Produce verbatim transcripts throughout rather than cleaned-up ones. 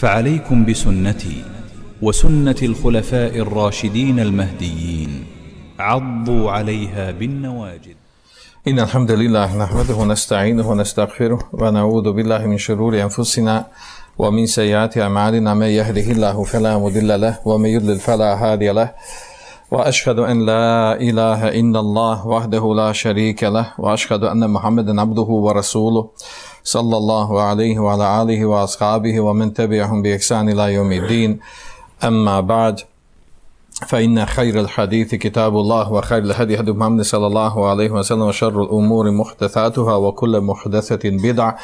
فعليكم بسنتي وسنة الخلفاء الراشدين المهديين عضوا عليها بالنواجذ. إن الحمد لله نحمده ونستعينه ونستغفره ونعوذ بالله من شرور أنفسنا ومن سيئات أعمالنا. من يهده الله فلا مضل له ومن يضلل فلا هادي له، وأشهد أن لا إله إلا الله وحده لا شريك له، وأشهد أن محمدا عبده ورسوله صلى الله عليه وعلى آله وأصحابه ومن تبعهم بإحسان إلى يوم الدين. أما بعد، فإن خير الحديث كتاب الله وخير الهدي هدي محمد صلى الله عليه وسلم وشر الأمور محدثاتها وكل محدثة بدعة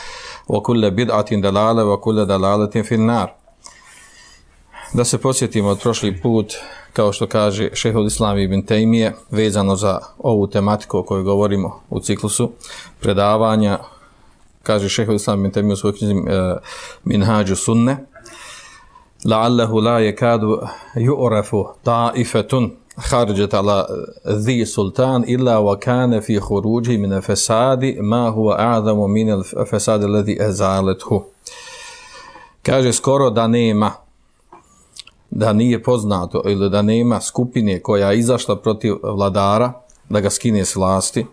وكل بدعة دلالة وكل دلالة في النار. Da se podsjetimo od prošli put, kao što kaže šejhul Islam ibn Tejmije, vezano za ovu tematiku o kojoj govorimo u ciklusu predavanja, kaže šejhul Islam ibn Tejmije u svojoj knjizi uh, Minhađu sunne: la'allahu la yakadu yu'rafu ta'ifatun kharajat ala dhi sultan illa wa kana fi khuruji min al-fasadi ma huwa a'zamu min al-fasadi alladhi azalathu. Kaže skoro da nema, da nije poznato ili da nema skupine koja je izašla protiv vladara da ga skine s vlasti,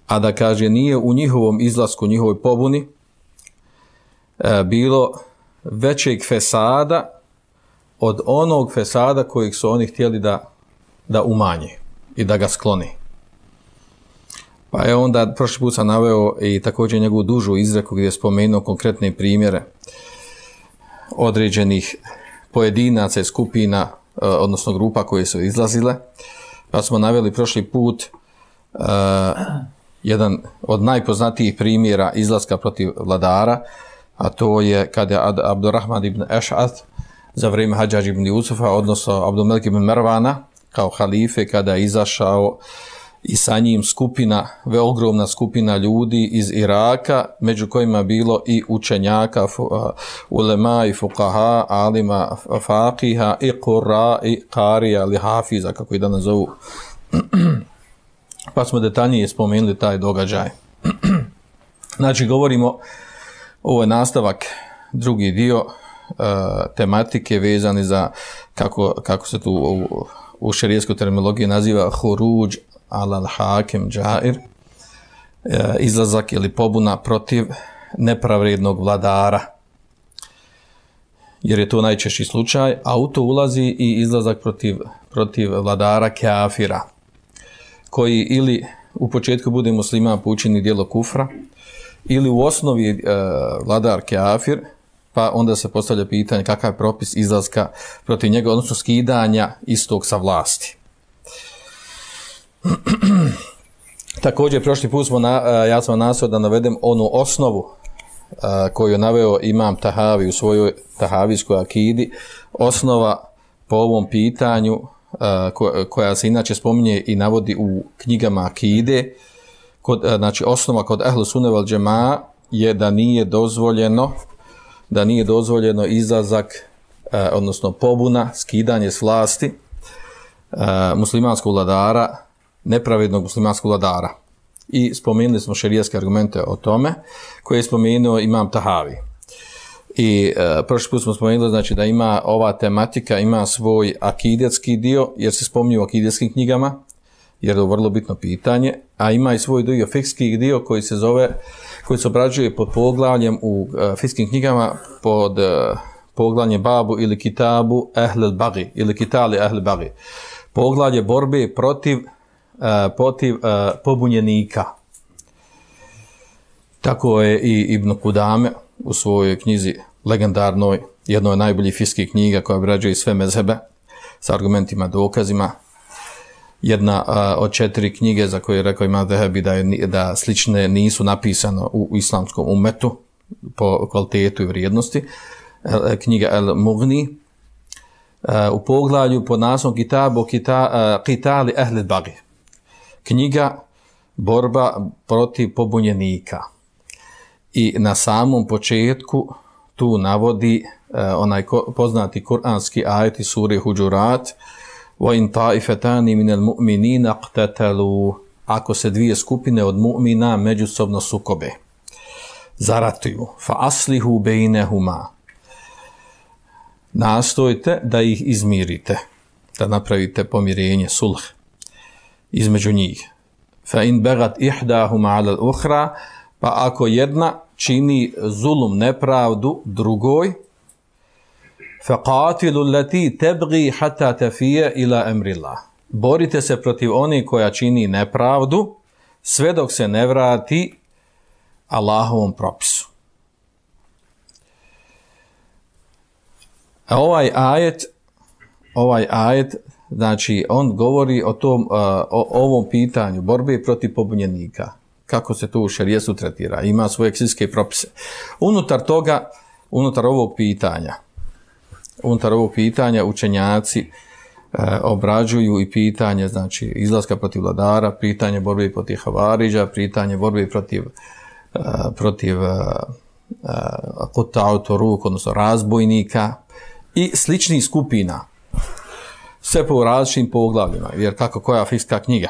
a da kaže nije u njihovom izlasku, njihovoj pobuni e, bilo većeg fesada od onog fesada kojeg su oni htjeli da, da umanje i da ga skloni. Pa je onda prošli put sam naveo i također njegovu dužu izreku gdje je spomenuo konkretne primjere određenih pojedinaca i skupina, odnosno grupa koje su izlazile. Pa smo naveli prošli put uh, jedan od najpoznatijih primjera izlaska protiv vladara, a to je kada je Abdurrahman ibn Eš'ath za vrijeme Hadžađa ibn Jusufa, odnosno Abdulmelik ibn Mervana kao halife, kada je izašao i sa njim skupina, ogromna skupina ljudi iz Iraka, među kojima bilo i učenjaka, ulema i fuqaha, alima, faqiha, i qurra, i qarija, ili hafiza, kako i danas zovu. Pa smo detaljnije spomenuli taj događaj. Znači, govorimo, ovo je nastavak, drugi dio uh, tematike vezani za, kako, kako se tu u, u šerijskoj terminologiji naziva huruđ alal hakim džair, izlazak ili pobuna protiv nepravrednog vladara, jer je to najčešći slučaj, a u to ulazi i izlazak protiv, protiv vladara kafira, koji ili u početku bude musliman po učini djelo kufra, ili u osnovi e, vladar kafir, pa onda se postavlja pitanje kakav je propis izlaska protiv njega, odnosno skidanja istog sa vlasti. Također, prošli put smo na, ja sam nasao da navedem onu osnovu a, koju je naveo imam Tahavi u svojoj tahavijskoj akidi, osnova po ovom pitanju a, ko, koja se inače spominje i navodi u knjigama akide, kod, a, znači osnova kod ehlu sunne vel džemaa je da nije dozvoljeno da nije dozvoljeno izlazak, a, odnosno pobuna, skidanje s vlasti a, muslimanskog vladara, nepravednog muslimanskog vladara. I spomenuli smo šerijske argumente o tome, koje je spomenuo imam Tahavi. I e, prošli put smo spomenuli, znači, da ima ova tematika, ima svoj akidetski dio, jer se spominju u akidetskim knjigama, jer je to vrlo bitno pitanje, a ima i svoj dio fikski dio koji se zove, koji se obrađuje pod poglavljem u e, fikskim knjigama pod e, poglavljem babu ili kitabu ehlel bagi, ili kitali ehlel bagi. Poglavlje borbe protiv Uh, protiv uh, pobunjenika. Tako je i Ibn Kudame u svojoj knjizi legendarnoj, jednoj od najboljih fiskih knjiga koja obrađuje sve mezhebe sa argumentima, dokazima. Jedna uh, od četiri knjige za koje je rekao Imam Zehebi da, je, da slične nisu napisano u, u islamskom umetu po kvalitetu i vrijednosti. Uh, knjiga El Mughni uh, u poglavlju pod naslovom Kitabu kita, uh, Kitali Ehli Bagi. Knjiga borba protiv pobunjenika. I na samom početku tu navodi uh, onaj ko, poznati kuranski ajet iz sure Huđurat: wa in ta'ifatani minal mu'minina iqtatalu, ako se dvije skupine od mu'mina međusobno sukobe. zaratuju. Fa aslihu bejnehuma. Nastojte da ih izmirite, da napravite pomirenje, sulh između njih. Fa in begat ihdahuma ala al-ukhra, pa ako jedna čini zulum, nepravdu drugoj, fa qatilu allati tabghi hatta tafiya ila amrillah. Borite se protiv one koja čini nepravdu sve dok se ne vrati Allahovom propisu. A ovaj ajet, ovaj ajet, znači on govori o tom, o ovom pitanju borbe protiv pobunjenika. Kako se to u šerijetu tretira? Ima svoje eksigijske propise. Unutar toga, unutar ovog pitanja, unutar ovog pitanja učenjaci e, obrađuju i pitanje, znači izlaska protiv vladara, pitanje borbe protiv havariđa, pitanje borbe protiv e, protiv e, kutautoruk, odnosno razbojnika i sličnih skupina. Sve po različitim poglavljima, jer kako koja fikska knjiga.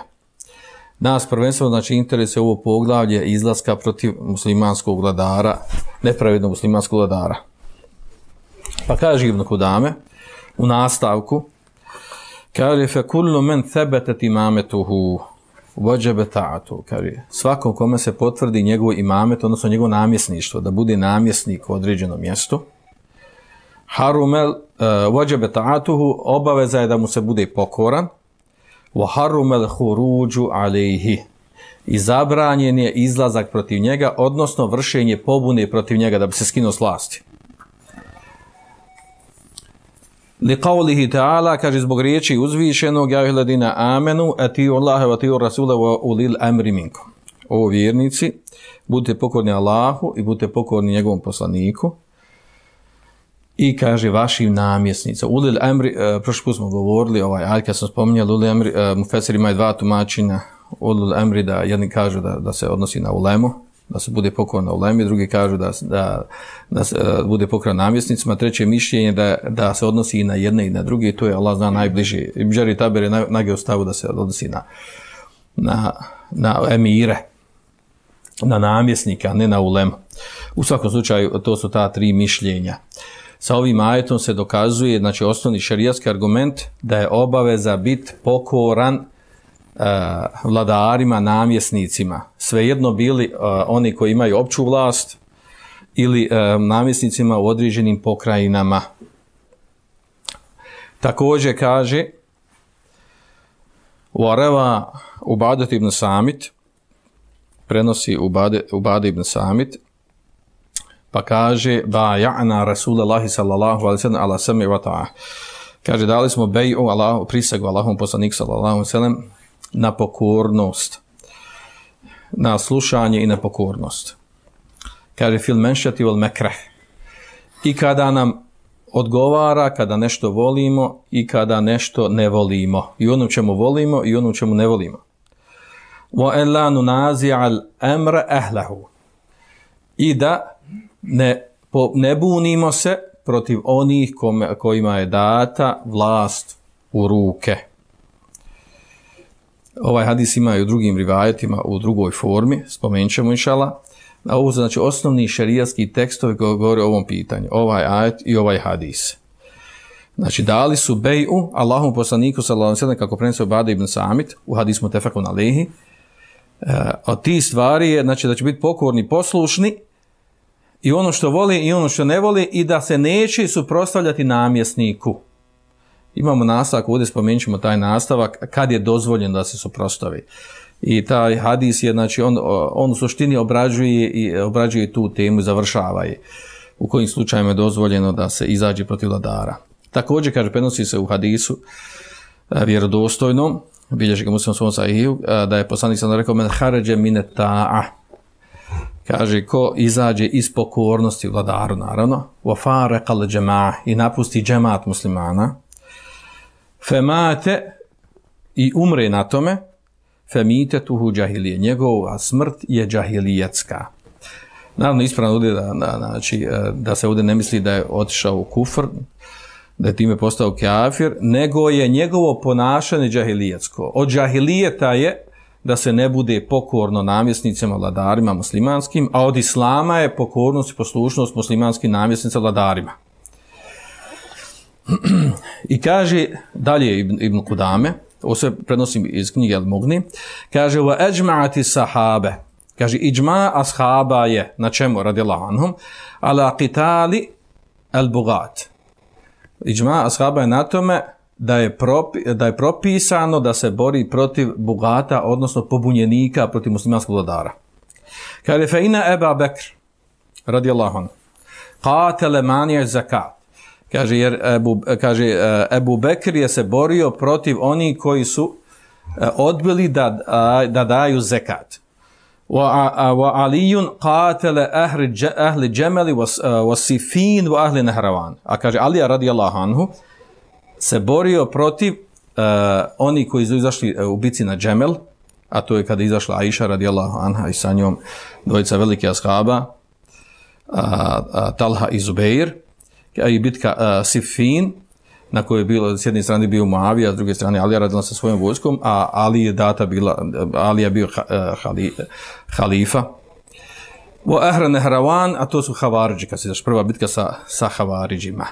Nas prvenstveno znači interesuje ovo poglavlje izlaska protiv muslimanskog vladara, nepravednog muslimanskog vladara. Pa kaže Ibn Kudame u nastavku, kaže fe kullu men thebetet imametuhu wajaba ta'atu, kaže svakom kome se potvrdi njegov imamet, odnosno njegovo namjesništvo, da bude namjesnik u određenom mjestu, harumel uh, wajaba ta'atuhu, obaveza je da mu se bude pokoran, wa harumel khuruju alayhi, i zabranjen je izlazak protiv njega, odnosno vršenje pobune protiv njega da bi se skinuo s vlasti. Li qawlihi ta'ala, kaže zbog riječi uzvišenog, ja ayyuhalladhina amanu atiu Allaha wa atiu rasula wa ulil amri minkum. O vjernici, budite pokorni Allahu i budite pokorni njegovom poslaniku. I kaže vašim namjesnicima. Ulil amri, uh, prošli put smo govorili, ovaj ajet kad sam spominjali, ulil amri, uh, mufesiri imaju dva tumačenja. Ulil amri, da jedni kažu da, da se odnosi na ulemu, da se bude pokoran na ulemi, drugi kažu da, da, da se uh, bude pokoran namjesnicima, treće mišljenje da, da se odnosi i na jedne i na druge, i to je Allah zna najbliže. Ibn Đarir Taberi je nage ostavu da se odnosi na, na, na emire, na namjesnika, a ne na ulemu. U svakom slučaju, to su ta tri mišljenja. Sa ovim ajetom se dokazuje, znači osnovni šerijatski argument, da je obaveza biti pokoran uh, vladarima, namjesnicima. Svejedno bili uh, oni koji imaju opću vlast ili uh, namjesnicima u određenim pokrajinama. Također kaže Uareva Ubadet ibn Samit, prenosi Ubade, Ubade ibn Samit, pa kaže ba ja'na Rasulullahi sallallahu alejhi ve sellem ala sami wa ta'a. Kaže dali smo bej'u Allahu, prisegu Allahom poslaniku sallallahu alejhi ve sellem na pokornost, na slušanje i na pokornost. Kaže fil menšati wal mekrah. I kada nam odgovara, kada nešto volimo i kada nešto ne volimo. I ono čemu volimo i ono čemu ne volimo. Wa illa nunazi'al amra ahlahu. I da Ne, po, ne bunimo se protiv onih kome, kojima je data vlast u ruke. Ovaj hadis ima i u drugim rivajetima, u drugoj formi, spomenut ćemo inšala. Ovo su znači osnovni šerijatski tekstovi koji govore o ovom pitanju, ovaj ajet i ovaj hadis. Znači dali su bej'u Allahom poslaniku sallallahu alejhi ve sellem, kako prenosi Ubade ibn Samit u hadisu mutefakun alejhi. E, od tih stvari je znači da će biti pokorni, poslušni, i ono što voli i ono što ne voli, i da se neće suprotstavljati namjesniku. Imamo nastavak, ovdje spomenut ćemo taj nastavak, kad je dozvoljeno da se suprotstavi. I taj hadis je, znači, on, on u suštini obrađuje, i, obrađuje tu temu i završava je. U kojim slučajima je dozvoljeno da se izađe protiv vladara. Također, kaže, prenosi se u hadisu vjerodostojnom, bilježi ga Muslim svom sahiju, da je poslanik sam rekao, men haređe mine ta'a. Kaže, ko izađe iz pokornosti vladaru, naravno, wa fareqal džema'ah, i napusti džemat muslimana, femate, i umre na tome, femite tuhu džahilije, njegova smrt je džahilijetska. Naravno, ispravno ovdje da, da, znači, da se ovdje ne misli da je otišao u kufr, da je time postao kafir, nego je njegovo ponašanje džahilijetsko. Od džahilijeta je da se ne bude pokorno namjesnicima, vladarima muslimanskim, a od islama je pokornost i poslušnost muslimanskim namjesnicima, vladarima. I kaže dalje Ibn, Ibn Kudame, ovo se prenosim iz knjige Al-Mughni, kaže wa ajma'ati sahabe, kaže iđma ashaba je, na čemu radijallahu anhum, ala qitali al-bugat. Iđma ashaba je na tome da je, propi, da je propisano da se bori protiv bugata, odnosno pobunjenika protiv muslimanskog vladara. Kaže fa ina Eba Bekr radijallahu anhu qatala mani' zakat. Kaže jer Ebu, kaže Ebu Bekr je se borio protiv onih koji su odbili da da daju zekat. Wa wa Aliyun qatala ahli ahli Jamal wa Sifin wa ahli Nahrawan. A kaže Ali radijallahu anhu se borio protiv uh, oni koji su izašli u bici na Džemel, a to je kada izašla Aisha radijallahu anha i sa njom dvojica velike ashaba, uh, uh, Talha i Zubeir, i bitka uh, Siffin, na kojoj je bilo, s jedne strane bio Muavija, s druge strane Alija radila sa svojom vojskom, a Ali je data bila, Ali je bio uh, hali, halifa. Wa ahra Nehravan, a to su Havaridži, kad se daš prva bitka sa, sa Havaridžima.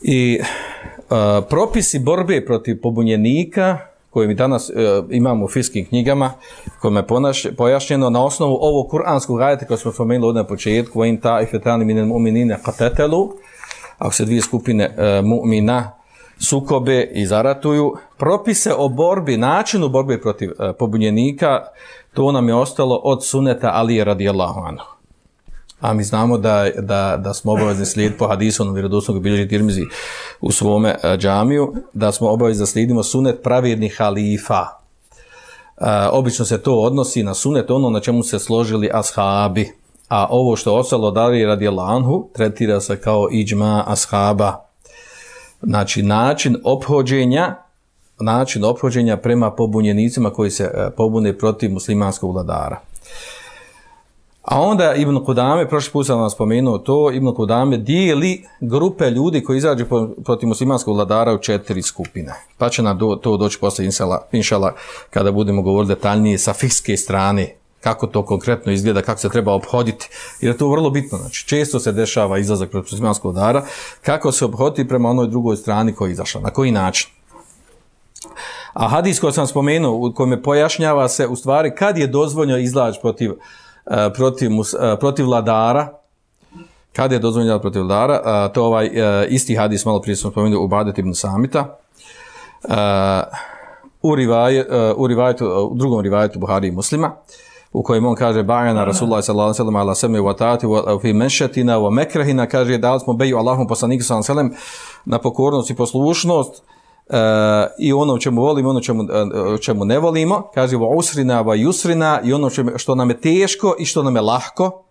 I uh, propisi borbe protiv pobunjenika koje mi danas uh, imamo u fikskim knjigama, kojima je pojašnjeno na osnovu ovog kuranskog ajeta koji smo spomenuli ovdje na početku, wa in ta'ifetani minal mu'minina qatatalu, ako se dvije skupine uh, mu'mina sukobe i zaratuju, propise o borbi, načinu borbe protiv uh, pobunjenika, to nam je ostalo od suneta Alije radijallahu anhu. A mi znamo da, da, da smo obavezni slijediti po hadisu na vjerodostojnog bilježi Tirmizi u svome uh, džamiju, da smo obavezni da slijedimo sunet pravjednih halifa. Uh, obično se to odnosi na sunet ono na čemu se složili ashabi. A ovo što ostalo dali radijallahu anhu tretira se kao iđma ashaba. Znači način ophođenja, način ophođenja prema pobunjenicima koji se uh, pobune protiv muslimanskog vladara. A onda Ibn Kudame, prošli put sam vam spomenuo to, Ibn Kudame dijeli grupe ljudi koji izađu protiv muslimanskog vladara u četiri skupine. Pa će nam do, to doći posle inšala kada budemo govoriti detaljnije sa fikske strane, kako to konkretno izgleda, kako se treba obhoditi. Jer je to vrlo bitno. Znači, često se dešava izlazak protiv muslimanskog vladara, kako se obhoditi prema onoj drugoj strani koja je izašla, na koji način. A hadis koji sam spomenuo, u kojem pojašnjava se u stvari kad je dozvoljeno izlaz protiv protiv, protiv vladara, kada je dozvoljeno protiv vladara, to ovaj isti hadis, malo prije smo spomenuli u Ubadet ibn Samita, u, rivaj, u, rivajetu, u drugom rivajetu Buhari i Muslima, u kojem on kaže bajana Rasulullah sallallahu alejhi ve sellem ala sami wa taati wa fi manshatina wa makrahina, kaže da smo beju Allahom poslaniku sallallahu alejhi ve sellem na pokornost i poslušnost, Uh, i ono čemu volimo, ono čemu, uh, čemu ne volimo, kaže wa usrina wa yusrina, i ono čemu, što nam je teško i što nam je lahko,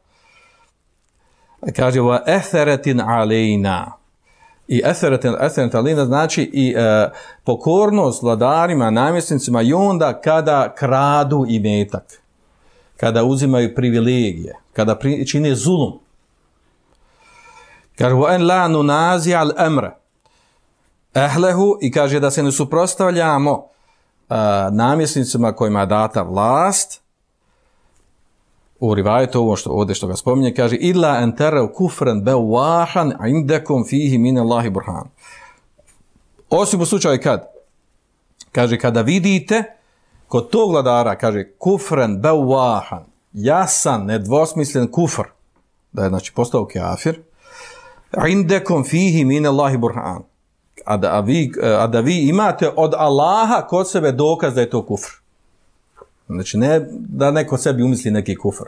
kaže wa atharatin alejna, i atharatin, atharatin alejna znači i uh, pokornost vladarima, namjesnicima i onda kada kradu imetak, kada uzimaju privilegije, kada pri, čine zulum, kaže wa an la nunazi al amra ehlehu, i kaže da se ne suprotstavljamo uh, namjesnicima kojima je data vlast. U rivajetu ovo što ovdje što ga spominje, kaže illa en terav kufran bewahan indakum fihi min Allahi burhan. Osim u slučaju kad, kaže kada vidite kod tog vladara, kaže kufran bewahan, jasan, nedvosmislen kufr, da je znači postao kafir, indakum fihi min Allahi burhan. A da, a, vi, a da vi imate od Allaha kod sebe dokaz da je to kufr. Znači ne da neko sebi umisli neki kufr.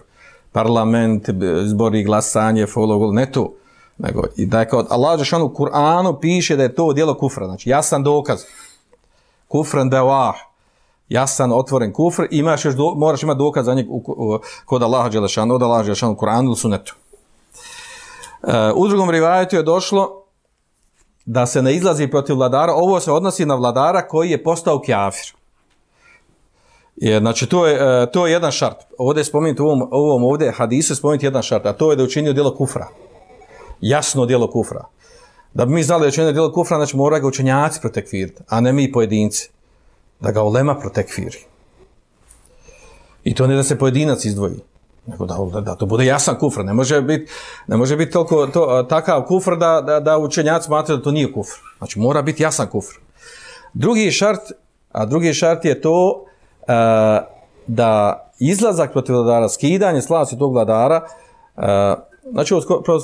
Parlament, izbori, glasanje, follow, ne to. Nego i da je kao Allah dželle u Kur'anu piše da je to djelo kufra. Znači jasan dokaz. Kufran bewah. Jasan otvoren kufr. Imaš još do, moraš imati dokaz za njeg u, u, kod Allaha dželle od Allaha dželle u Kur'anu ili sunnetu. Uh, u drugom rivajetu je došlo da se ne izlazi protiv vladara, ovo se odnosi na vladara koji je postao kafir. Je, znači, to je, to je jedan šart. Ovdje je spomenuti, u ovom, ovom ovdje hadisu je spomenuti jedan šart, a to je da je učinio djelo kufra. Jasno djelo kufra. Da bi mi znali da je učinio djelo kufra, znači mora ga učenjaci protekfiriti, a ne mi pojedinci. Da ga ulema protekfiri. I to ne da se pojedinac izdvoji, nego da, da, da to bude jasan kufr. Ne može biti ne može biti toliko to, takav kufr da, da, da učenjaci smatraju da to nije kufr. Znači mora biti jasan kufr. Drugi šart, a drugi šart je to uh, da izlazak protiv vladara, skidanje slasti tog vladara, uh, znači ovo skoro,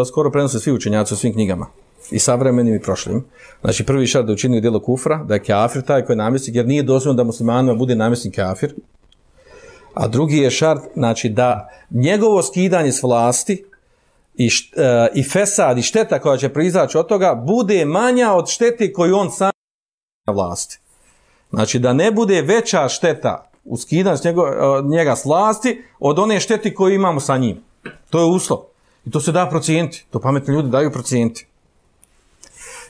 skoro prenose svi učenjaci u svim knjigama, i savremenim i prošlim. Znači prvi šart da učini djelo kufra, da je kafir taj koji je namjesnik, jer nije dozvoljeno da muslimanima bude namjesnik kafir. A drugi je šart, znači da njegovo skidanje s vlasti i, št, uh, i fesad i šteta koja će proizaći od toga bude manja od štete koju on sam na vlasti. Znači da ne bude veća šteta u skidanju njego, njega s vlasti od one štete koju imamo sa njim. To je uslov. I to se da procijeniti. To pametni ljudi daju procijeniti.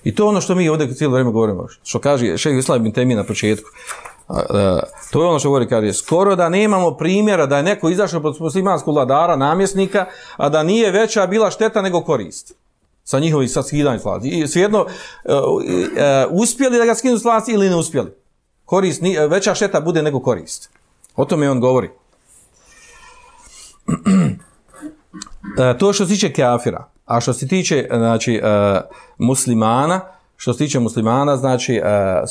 I to je ono što mi ovdje cijelo vrijeme govorimo. Što kaže šejh Islam ibn Tejmije na početku. A, a, to je ono što govori, kaže, skoro da nemamo primjera da je neko izašao pod muslimanskog vladara, namjesnika, a da nije veća bila šteta nego korist. Sa njihovih sa skidanjem s vlasti. I svejedno, uh, uh, uspjeli da ga skinu s vlasti ili ne uspjeli. Korist, ni, veća šteta bude nego korist. O tome on govori. uh, to što se tiče kafira. A što se tiče znači, uh, muslimana, što se tiče muslimana, znači, uh,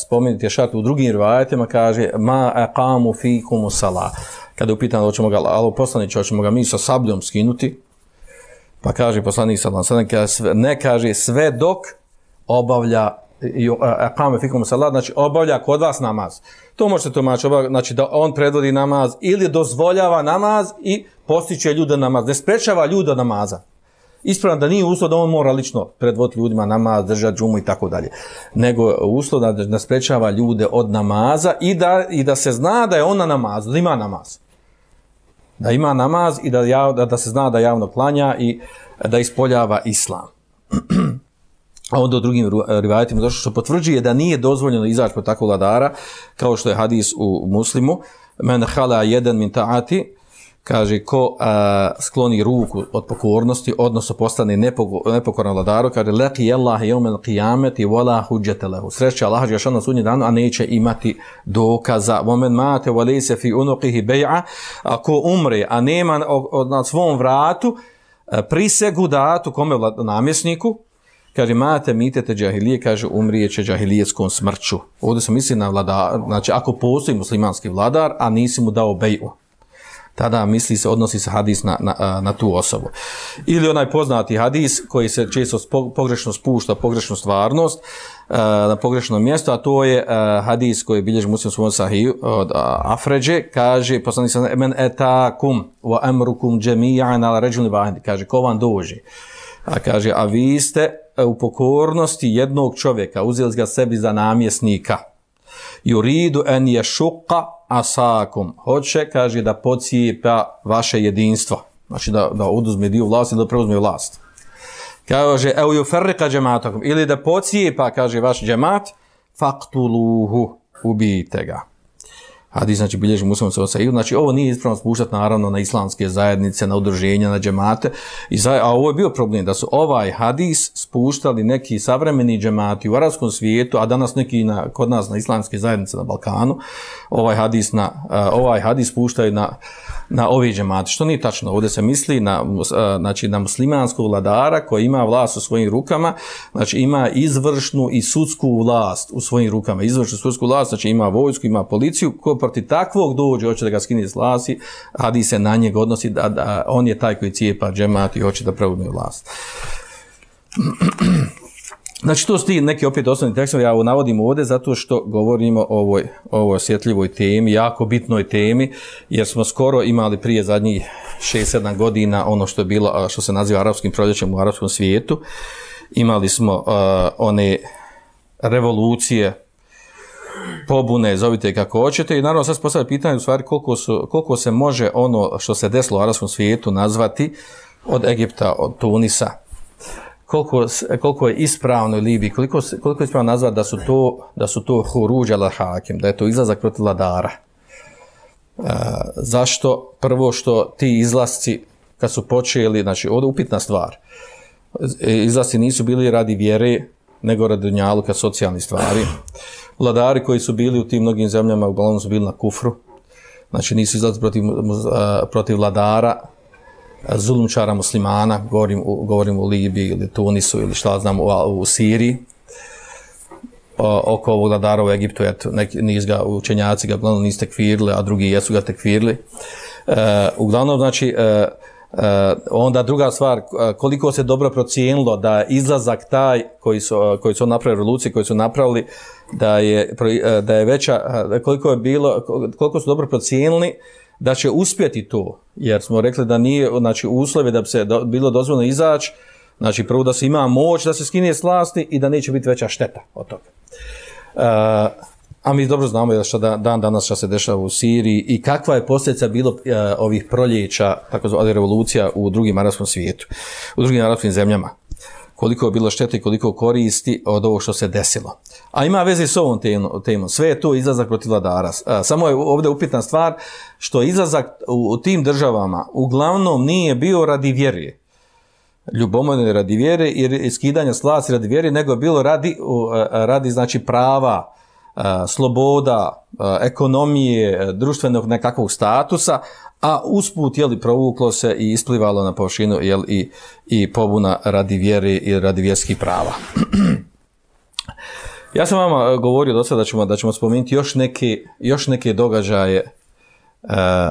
spomenuti je šart u drugim rivajetima, kaže ma aqamu fikum salah. Kada je upitano, hoćemo ga, ali poslaniče, hoćemo ga mi sa sabljom skinuti, pa kaže poslanik sallallahu alejhi ve sellem, ne kaže sve dok obavlja aqama fikum salat, znači obavlja kod vas namaz. To možete tumačiti, znači da on predvodi namaz ili dozvoljava namaz i postiče ljude namaz, ne sprečava ljude namaza. Ispravno da nije uslov da on mora lično predvoditi ljudima namaz, držati džumu i tako dalje, nego uslov da, da sprečava ljude od namaza i da, i da se zna da je on na namazu, da ima namaz. Da ima namaz i da, jav, da, da se zna da javno klanja i da ispoljava islam. A onda u drugim rivajetima došlo što potvrđuje da nije dozvoljeno izaći po takvog vladara, kao što je hadis u Muslimu, men hala jedan min ta'ati, kaže ko a, skloni ruku od pokornosti, odnosno postane nepokoran vladaru, kaže laqi Allah yawm al-qiyamati wala hujjata lahu. Sreća Allah je na sudnji dan, a neće imati dokaza. Wa man mata wa laysa fi unuqihi bay'a, ako umre, a nema na svom vratu prisegu datu kome namjesniku, kaže mate mitete džahilije, kaže umrijeće džahilijetskom smrću. Ovdje se misli na vladar, znači ako postoji muslimanski vladar, a nisi mu dao bej'u, tada misli se, odnosi se hadis na, na, na tu osobu. Ili onaj poznati hadis koji se često pogrešno spušta, pogrešnu stvarnost na pogrešno mjesto, a to je hadis koji bilježi Muslim u svom sahiju od Afređe, kaže poslanik sallallahu alejhi ve sellem men etakum wa amrukum jami'an ala rajulin wahid, kaže ko vam dođe, a kaže a vi ste u pokornosti jednog čovjeka, uzeli ga sebi za namjesnika, yuridu an yashqa asakum, hoće, kaže, da pocijepa vaše jedinstvo, znači da, da oduzme dio vlasti, da preuzme vlast. Kaže, evo yufarriqa jama'atakum, ili da pocijepa, kaže, vaš džemat, faqtuluhu, ubijte ga. Hadis, znači, bilježi Muslim u sahiju. Znači, ovo nije ispravno spuštati, naravno, na islamske zajednice, na udruženja, na džemate. I za, a ovo je bio problem, da su ovaj hadis spuštali neki savremeni džemati u arapskom svijetu, a danas neki na, kod nas na islamske zajednice na Balkanu, ovaj hadis, na, uh, ovaj hadis spuštaju na, na ove džemate. Što nije tačno, ovdje se misli na, uh, znači, na muslimanskog vladara koji ima vlast u svojim rukama, znači ima izvršnu i sudsku vlast u svojim rukama. Izvršnu i sudsku vlast, znači ima vojsku, ima policiju, ko protiv takvog dođe, hoće da ga skine s vlasti, hadis se na njega odnosi, da, da on je taj koji cijepa džemat i hoće da preuzme vlast. Znači, to su ti neki opet osnovni tekstovi, ja ovo navodim ovdje zato što govorimo o ovoj, ovoj osjetljivoj temi, jako bitnoj temi, jer smo skoro imali prije zadnjih šest sedam godina ono što je bilo, što se naziva arapskim proljećem u arapskom svijetu. Imali smo uh, one revolucije, pobune, zovite kako hoćete, i naravno sad se postavlja pitanje u stvari koliko, su, koliko se može ono što se desilo u arapskom svijetu nazvati od Egipta, od Tunisa, koliko, koliko je ispravno u Libiji, koliko, koliko je ispravno nazvati da su to, da su to huruđ ala hakim, da je to izlazak protiv vladara. E, zašto? Prvo što ti izlasci kad su počeli, znači ovdje upitna stvar, izlasci nisu bili radi vjere, nego radi dunjaluka, socijalnih stvari. Vladari koji su bili u tim mnogim zemljama uglavnom su bili na kufru, znači nisu izlazili protiv, protiv vladara, zulumčara muslimana, govorim, govorim u Libiji ili Tunisu ili šta znam u, u Siriji, o, oko ovog vladara u Egiptu, eto, neki, niz ga, učenjaci ga uglavnom nisu tekfirili, a drugi jesu ga tekfirili. E, uglavnom, znači, e, e, onda druga stvar, koliko se dobro procijenilo da izlazak taj koji su, koji su napravili revolucije, koji su napravili, da je, da je veća, koliko je bilo, koliko su dobro procijenili da će uspjeti to, jer smo rekli da nije, znači, uslovi da bi se do, bilo dozvoljeno izaći, znači prvo da se ima moć da se skine s vlasti i da neće biti veća šteta od toga. E, a mi dobro znamo što da, dan danas što se dešava u Siriji i kakva je posljedica bilo e, ovih proljeća, tako zvali revolucija u drugim arapskom svijetu, u drugim arapskim zemljama. Koliko je bilo štete i koliko koristi od ovog što se desilo. A ima veze s ovom temom. Sve je to izlazak protiv vladara. Samo je ovdje upitna stvar što izlazak u tim državama uglavnom nije bio radi vjere. Ljubomorne radi vjere i skidanja s vlasti radi vjere, nego je bilo radi, radi znači prava, sloboda, ekonomije, društvenog nekakvog statusa, a usput je li provuklo se i isplivalo na površinu je li i i pobuna radi vjere i radi vjerskih prava. Ja sam vama govorio do sada da ćemo da ćemo spomenuti još neke još neke događaje, e,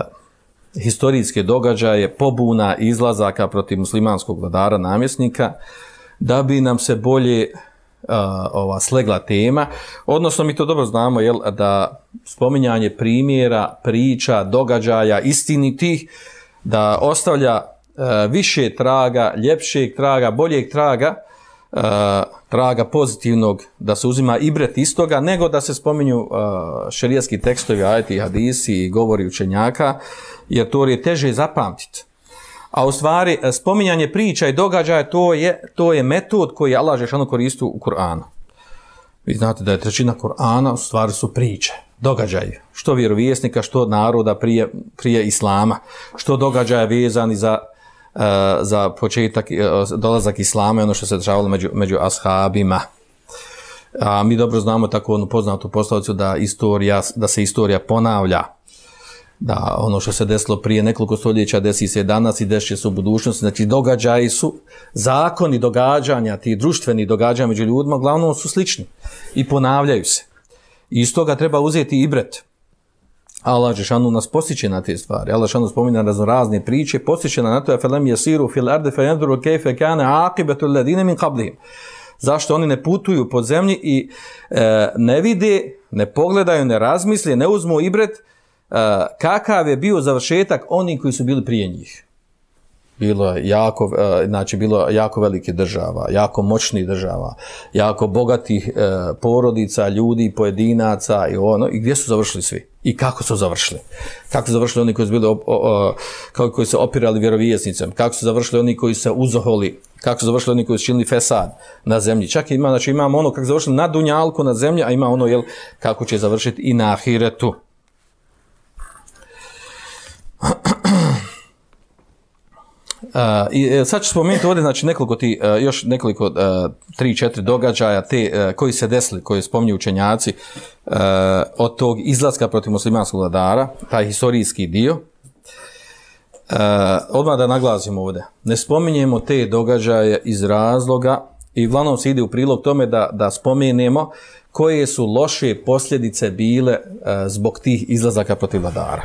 historijske događaje pobuna izlazaka protiv muslimanskog vladara namjesnika, da bi nam se bolje Uh, ova slegla tema, odnosno mi to dobro znamo, jel, da spominjanje primjera, priča, događaja, istinitih, da ostavlja uh, više traga, ljepšeg traga, boljeg traga, uh, traga pozitivnog, da se uzima ibret istoga, nego da se spominju uh, šerijatski tekstovi, ajeti, hadisi i govori učenjaka, jer to je teže zapamtiti. A u stvari, spominjanje priča i događaja, to je, to je metod koji Allah dželešanu koristi u Kur'anu. Vi znate da je trećina Kur'ana u stvari su priče, događaji. Što vjerovjesnika, što naroda prije, prije Islama. Što događaja vezani za, uh, za početak, uh, dolazak Islama i ono što se dešavalo među, među ashabima. A mi dobro znamo tako onu poznatu poslovicu da, istorija, da se istorija ponavlja. Da ono što se desilo prije nekoliko stoljeća desi se danas i desit će se u budućnosti. Znači događaji su, zakoni događanja, ti društveni događanja među ljudima, uglavnom su slični i ponavljaju se. I iz toga treba uzeti ibret. Allah dželešanu nas postiče na te stvari. Allah dželešanu spominje raznorazne priče, postiče na to felem yasiru fil ardi fayanzuru kayfa kana aqibatu alladine min qablihim. Zašto oni ne putuju po zemlji i e, ne vide, ne pogledaju, ne razmisle, ne uzmu ibret Uh, kakav je bio završetak onih koji su bili prije njih. Bilo je jako, uh, znači bilo jako velike država, jako moćnih država, jako bogatih uh, porodica, ljudi, pojedinaca i ono, i gdje su završili svi? I kako su završili? Kako su završili oni koji su bili op, o, o, koji su opirali vjerovjesnicom? Kako su završili oni koji su uzoholi? Kako su završili oni koji su činili fesad na zemlji? Čak ima, znači imamo ono kako završili na dunjalku na zemlji, a ima ono jel, kako će završiti i na ahiretu. Uh, i sad ću spomenuti ovdje znači nekoliko ti, uh, još nekoliko uh, tri, četiri događaja te uh, koji se desili, koji spominju učenjaci uh, od tog izlaska protiv muslimanskog vladara, taj historijski dio. Uh, odmah da naglasimo ovdje, ne spominjemo te događaje iz razloga i uglavnom se ide u prilog tome da, da spomenemo koje su loše posljedice bile uh, zbog tih izlazaka protiv vladara.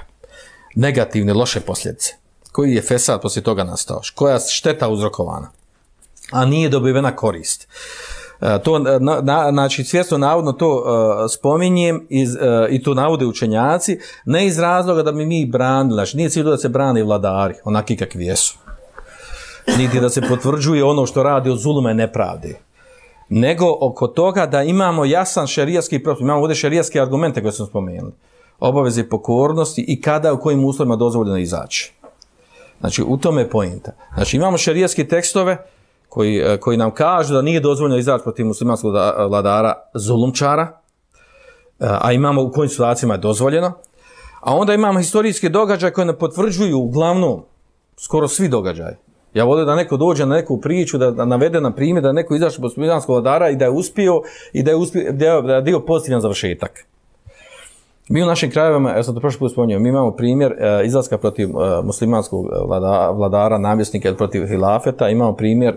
Negativne, loše posljedice. Koji je fesad poslije toga nastao? Koja šteta uzrokovana? A nije dobivena korist. E, to, na, na, znači, svjesno navodno to uh, spominjem iz, uh, i to navode učenjaci, ne iz razloga da mi mi branili, znači nije cilj da se brane vladari, onaki kakvi jesu. Niti da se potvrđuje ono što radi od zuluma i nepravde. Nego oko toga da imamo jasan šerijatski propis, imamo ovdje šerijatske argumente koje smo spomenuli. Obaveze pokornosti i kada u kojim uslovima dozvoljeno izaći. Znači, u tome je pointa. Znači, imamo šerijatske tekstove koji, koji nam kažu da nije dozvoljeno izaći protiv muslimanskog vladara zulumčara, a imamo u kojim situacijama je dozvoljeno. A onda imamo historijske događaje koje nam potvrđuju uglavnom skoro svi događaji. Ja volim da neko dođe na neku priču, da, da navede na primjer da neko izašao protiv muslimanskog vladara i da je uspio i da je, uspio, da je dio pozitivan završetak. Mi u našim krajevima, ja sam to prošli put spomenuo, mi imamo primjer e, izlaska protiv e, muslimanskog vlada, vladara, namjesnika ili protiv hilafeta, imamo primjer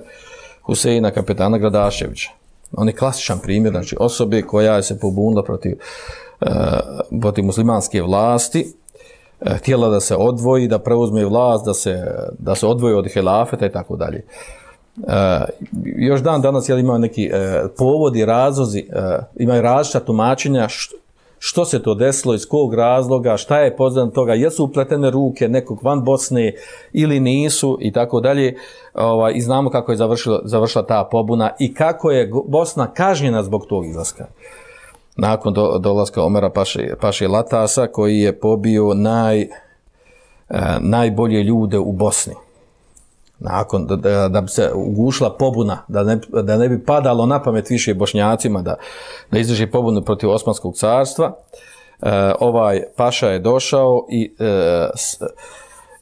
Huseina kapetana Gradaševića. On je klasičan primjer, znači osobe koja je se pobunila protiv, e, protiv muslimanske vlasti, e, htjela da se odvoji, da preuzme vlast, da se, da se odvoji od hilafeta i tako dalje. E, još dan danas jel, ima neki e, povodi, razlozi, e, imaju različita tumačenja što, što se to desilo, iz kog razloga, šta je poznat toga, jesu upletene ruke nekog van Bosne ili nisu i tako dalje. Ovaj, i znamo kako je završila, završila ta pobuna i kako je Bosna kažnjena zbog tog izlaska. Nakon do, dolaska Omera Paše, Paše Latasa koji je pobio naj, eh, najbolje ljude u Bosni. Nakon da, da, da bi se ugušila pobuna, da ne, da ne bi padalo na pamet više Bošnjacima da, da izdrži pobunu protiv Osmanskog carstva, eh, ovaj Paša je došao i eh, s,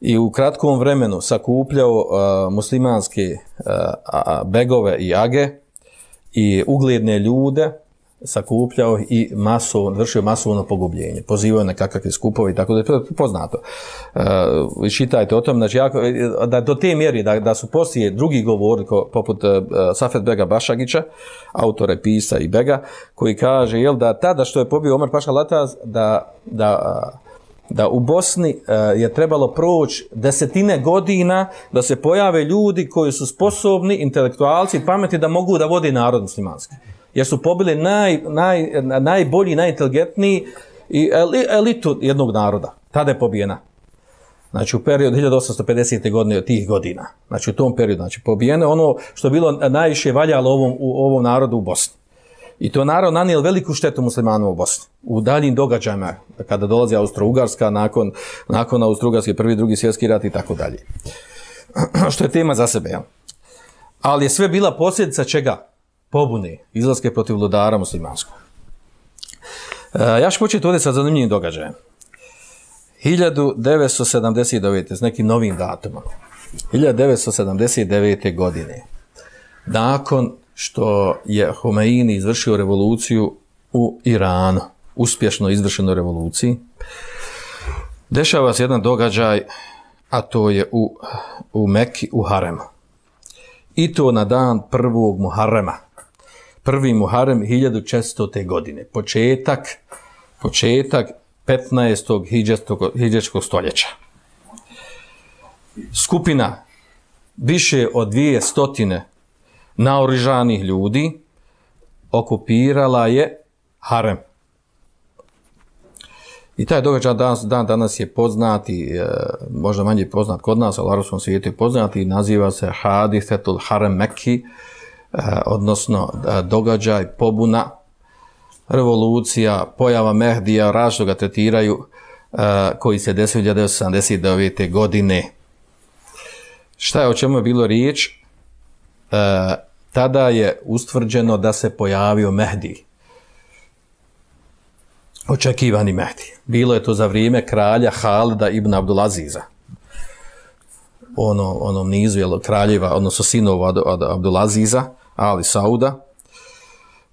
i u kratkom vremenu sakupljao uh, muslimanske uh, begove i age i ugledne ljude, sakupljao i masovno, vršio masovno pogubljenje, pozivao na kakve skupove i tako da je poznato. Uh, čitajte o tom, znači, jako, da do te mjeri da, da su poslije drugi govori, poput uh, Safet Bega Bašagića, autore Pisa i Bega, koji kaže jel, da tada što je pobio Omer Paša Lataz, da, da uh, da u Bosni uh, je trebalo proći desetine godina da se pojave ljudi koji su sposobni, intelektualci, pameti da mogu da vodi narod muslimanski. Jer su pobili naj, naj, najbolji, najinteligentniji i elitu jednog naroda. Tada je pobijena. Znači u periodu hiljadu osamsto pedesete godine od tih godina. Znači u tom periodu. Znači pobijene ono što je bilo najviše valjalo ovom, u ovom narodu u Bosni. I to narod nanijel veliku štetu muslimanima u Bosni. U daljim događajima, kada dolazi Austro-Ugarska, nakon, nakon Austro-Ugarske, prvi, drugi svjetski rat i tako dalje. Što je tema za sebe. Ja. Ali je sve bila posljedica čega? Pobune, izlaske protiv vladara muslimanskog. E, ja ću početi ovdje sa zanimljivim događajem. hiljadu devetsto sedamdeset devete. s nekim novim datumom. hiljadu devetsto sedamdeset devete. godine. Nakon što je Homeini izvršio revoluciju u Iranu, uspješno izvršenoj revoluciji, dešava se jedan događaj, a to je u, u Mekki, u Haremu. I to na dan prvog Muharrema. Prvi Muharrem hiljadu četiristote. godine. Početak, početak petnaestog hidžetskog stoljeća. Skupina više od dvije stotine naoružanih ljudi okupirala je harem. I taj događaj danas, dan danas je poznat i e, možda manje poznat kod nas, ali u arapskom svijetu je poznat i naziva se Hadisetul Harem Mekki, e, odnosno e, događaj, pobuna, revolucija, pojava Mehdija, različito ga tretiraju, e, koji se desio hiljadu devetsto sedamdeset devete. godine. Šta je, o čemu je bilo riječ? E, tada je ustvrđeno da se pojavio Mehdi. Očekivani Mehdi. Bilo je to za vrijeme kralja Halida ibn Abdulaziza. Ono, onom nizu jel, kraljeva, odnosno sinova od, od Abdulaziza, Ali Sauda.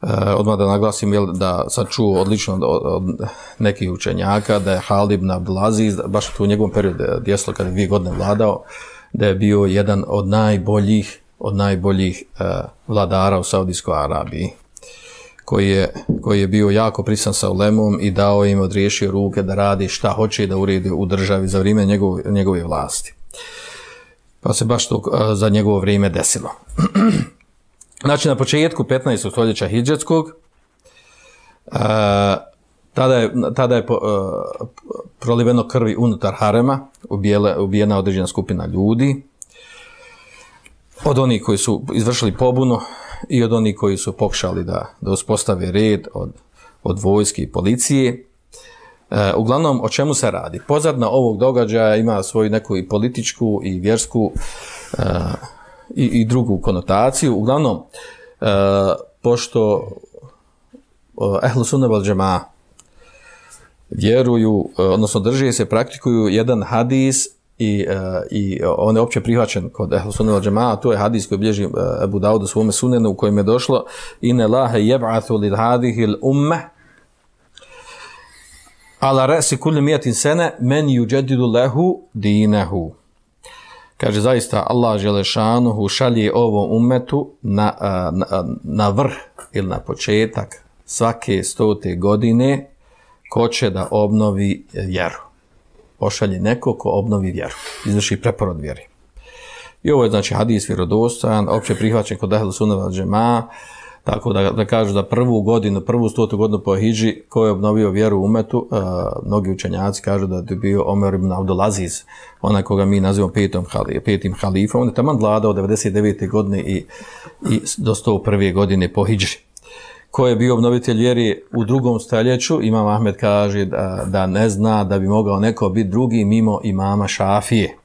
E, odmah da naglasim jel, da sad čuo odlično od, od nekih učenjaka da je Halid ibn Abdulaziz, baš u njegovom periodu desilo kada je dvije godine vladao, da je bio jedan od najboljih od najboljih uh, vladara u Saudijskoj Arabiji, koji je, koji je bio jako prisan sa ulemom i dao im, odriješio ruke da radi šta hoće da uredi u državi za vrijeme njegove, njegove vlasti. Pa se baš to uh, za njegovo vrijeme desilo. Znači, na početku petnaestog stoljeća hidžetskog, uh, tada je, tada je uh, proliveno krvi unutar harema, ubijela, ubijena određena skupina ljudi, od onih koji su izvršili pobunu i od onih koji su pokušali da, da uspostave red od, od vojske i policije. E, uglavnom, o čemu se radi? Pozadna ovog događaja ima svoju neku i političku i vjersku e, i, i drugu konotaciju. Uglavnom, e, pošto ehlu sunne vel džemaa vjeruju, odnosno drže se, praktikuju jedan hadis i, uh, i on je opće prihvaćen kod ehlu sunne vel džemaa, to je hadis koji bilježi uh, Ebu Daud u svome sunenu u kojem je došlo inne Allahe jeb'athu lil hadihil ummeh ala resi kulli mijatin sene men yuđedidu lehu dinehu. Kaže, zaista Allah Želešanuhu šalje ovom umetu na, na, na vrh ili na početak svake stote godine ko će da obnovi vjeru. Pošalje neko ko obnovi vjeru, izvrši preporod vjeri. I ovo je znači hadis vjerodostojan, opće prihvaćen kod Ehlu Sunne vel Džemaa, tako da, da kažu da prvu godinu, prvu stotu godinu po hidži, ko je obnovio vjeru u umetu, uh, mnogi učenjaci kažu da je bio Omer ibn Abdulaziz, onaj koga mi nazivamo petom, petim halifom, on je taman vladao od devedeset devete godine i, i do sto prve godine po hidži. Ko je bio obnovitelj vjeri u drugom stoljeću, imam Ahmed kaže da, da ne zna da bi mogao neko biti drugi mimo imama Šafije.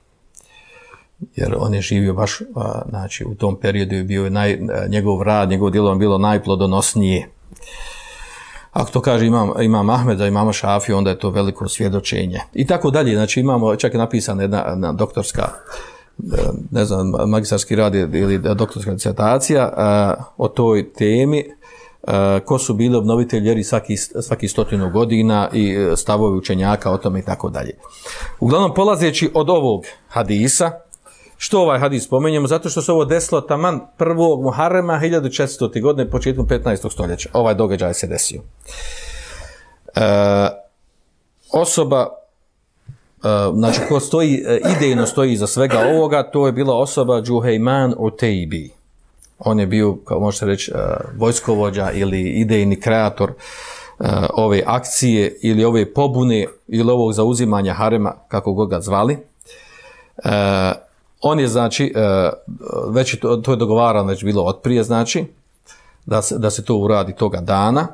Jer on je živio baš, a, znači u tom periodu je bio naj, njegov rad, njegov djelo bilo najplodonosnije. Ako to kaže imam, imam Ahmed da imamo Šafiju, onda je to veliko svjedočenje. I tako dalje, znači imamo, čak je napisana jedna, jedna doktorska, ne znam, magistarski rad ili doktorska disertacija a, o toj temi, a, ko su bili obnovitelji vjeri svaki, svaki stotinu godina i stavovi učenjaka o tome i tako dalje. Uglavnom, polazeći od ovog hadisa, što ovaj hadis spomenjemo? Zato što se ovo desilo taman prvog Muharrema hiljadu četiristote godine, početkom petnaestog stoljeća. Ovaj događaj se desio. E, osoba, e, znači ko stoji, idejno stoji iza svega ovoga, to je bila osoba Džuhejman Utejbi. On je bio, kao možete reći, vojskovođa ili idejni kreator e, ove akcije ili ove pobune ili ovog zauzimanja harema, kako god ga zvali. E, On je, znači, već to, to je dogovarano, već bilo otprije, znači, da se, da se to uradi toga dana,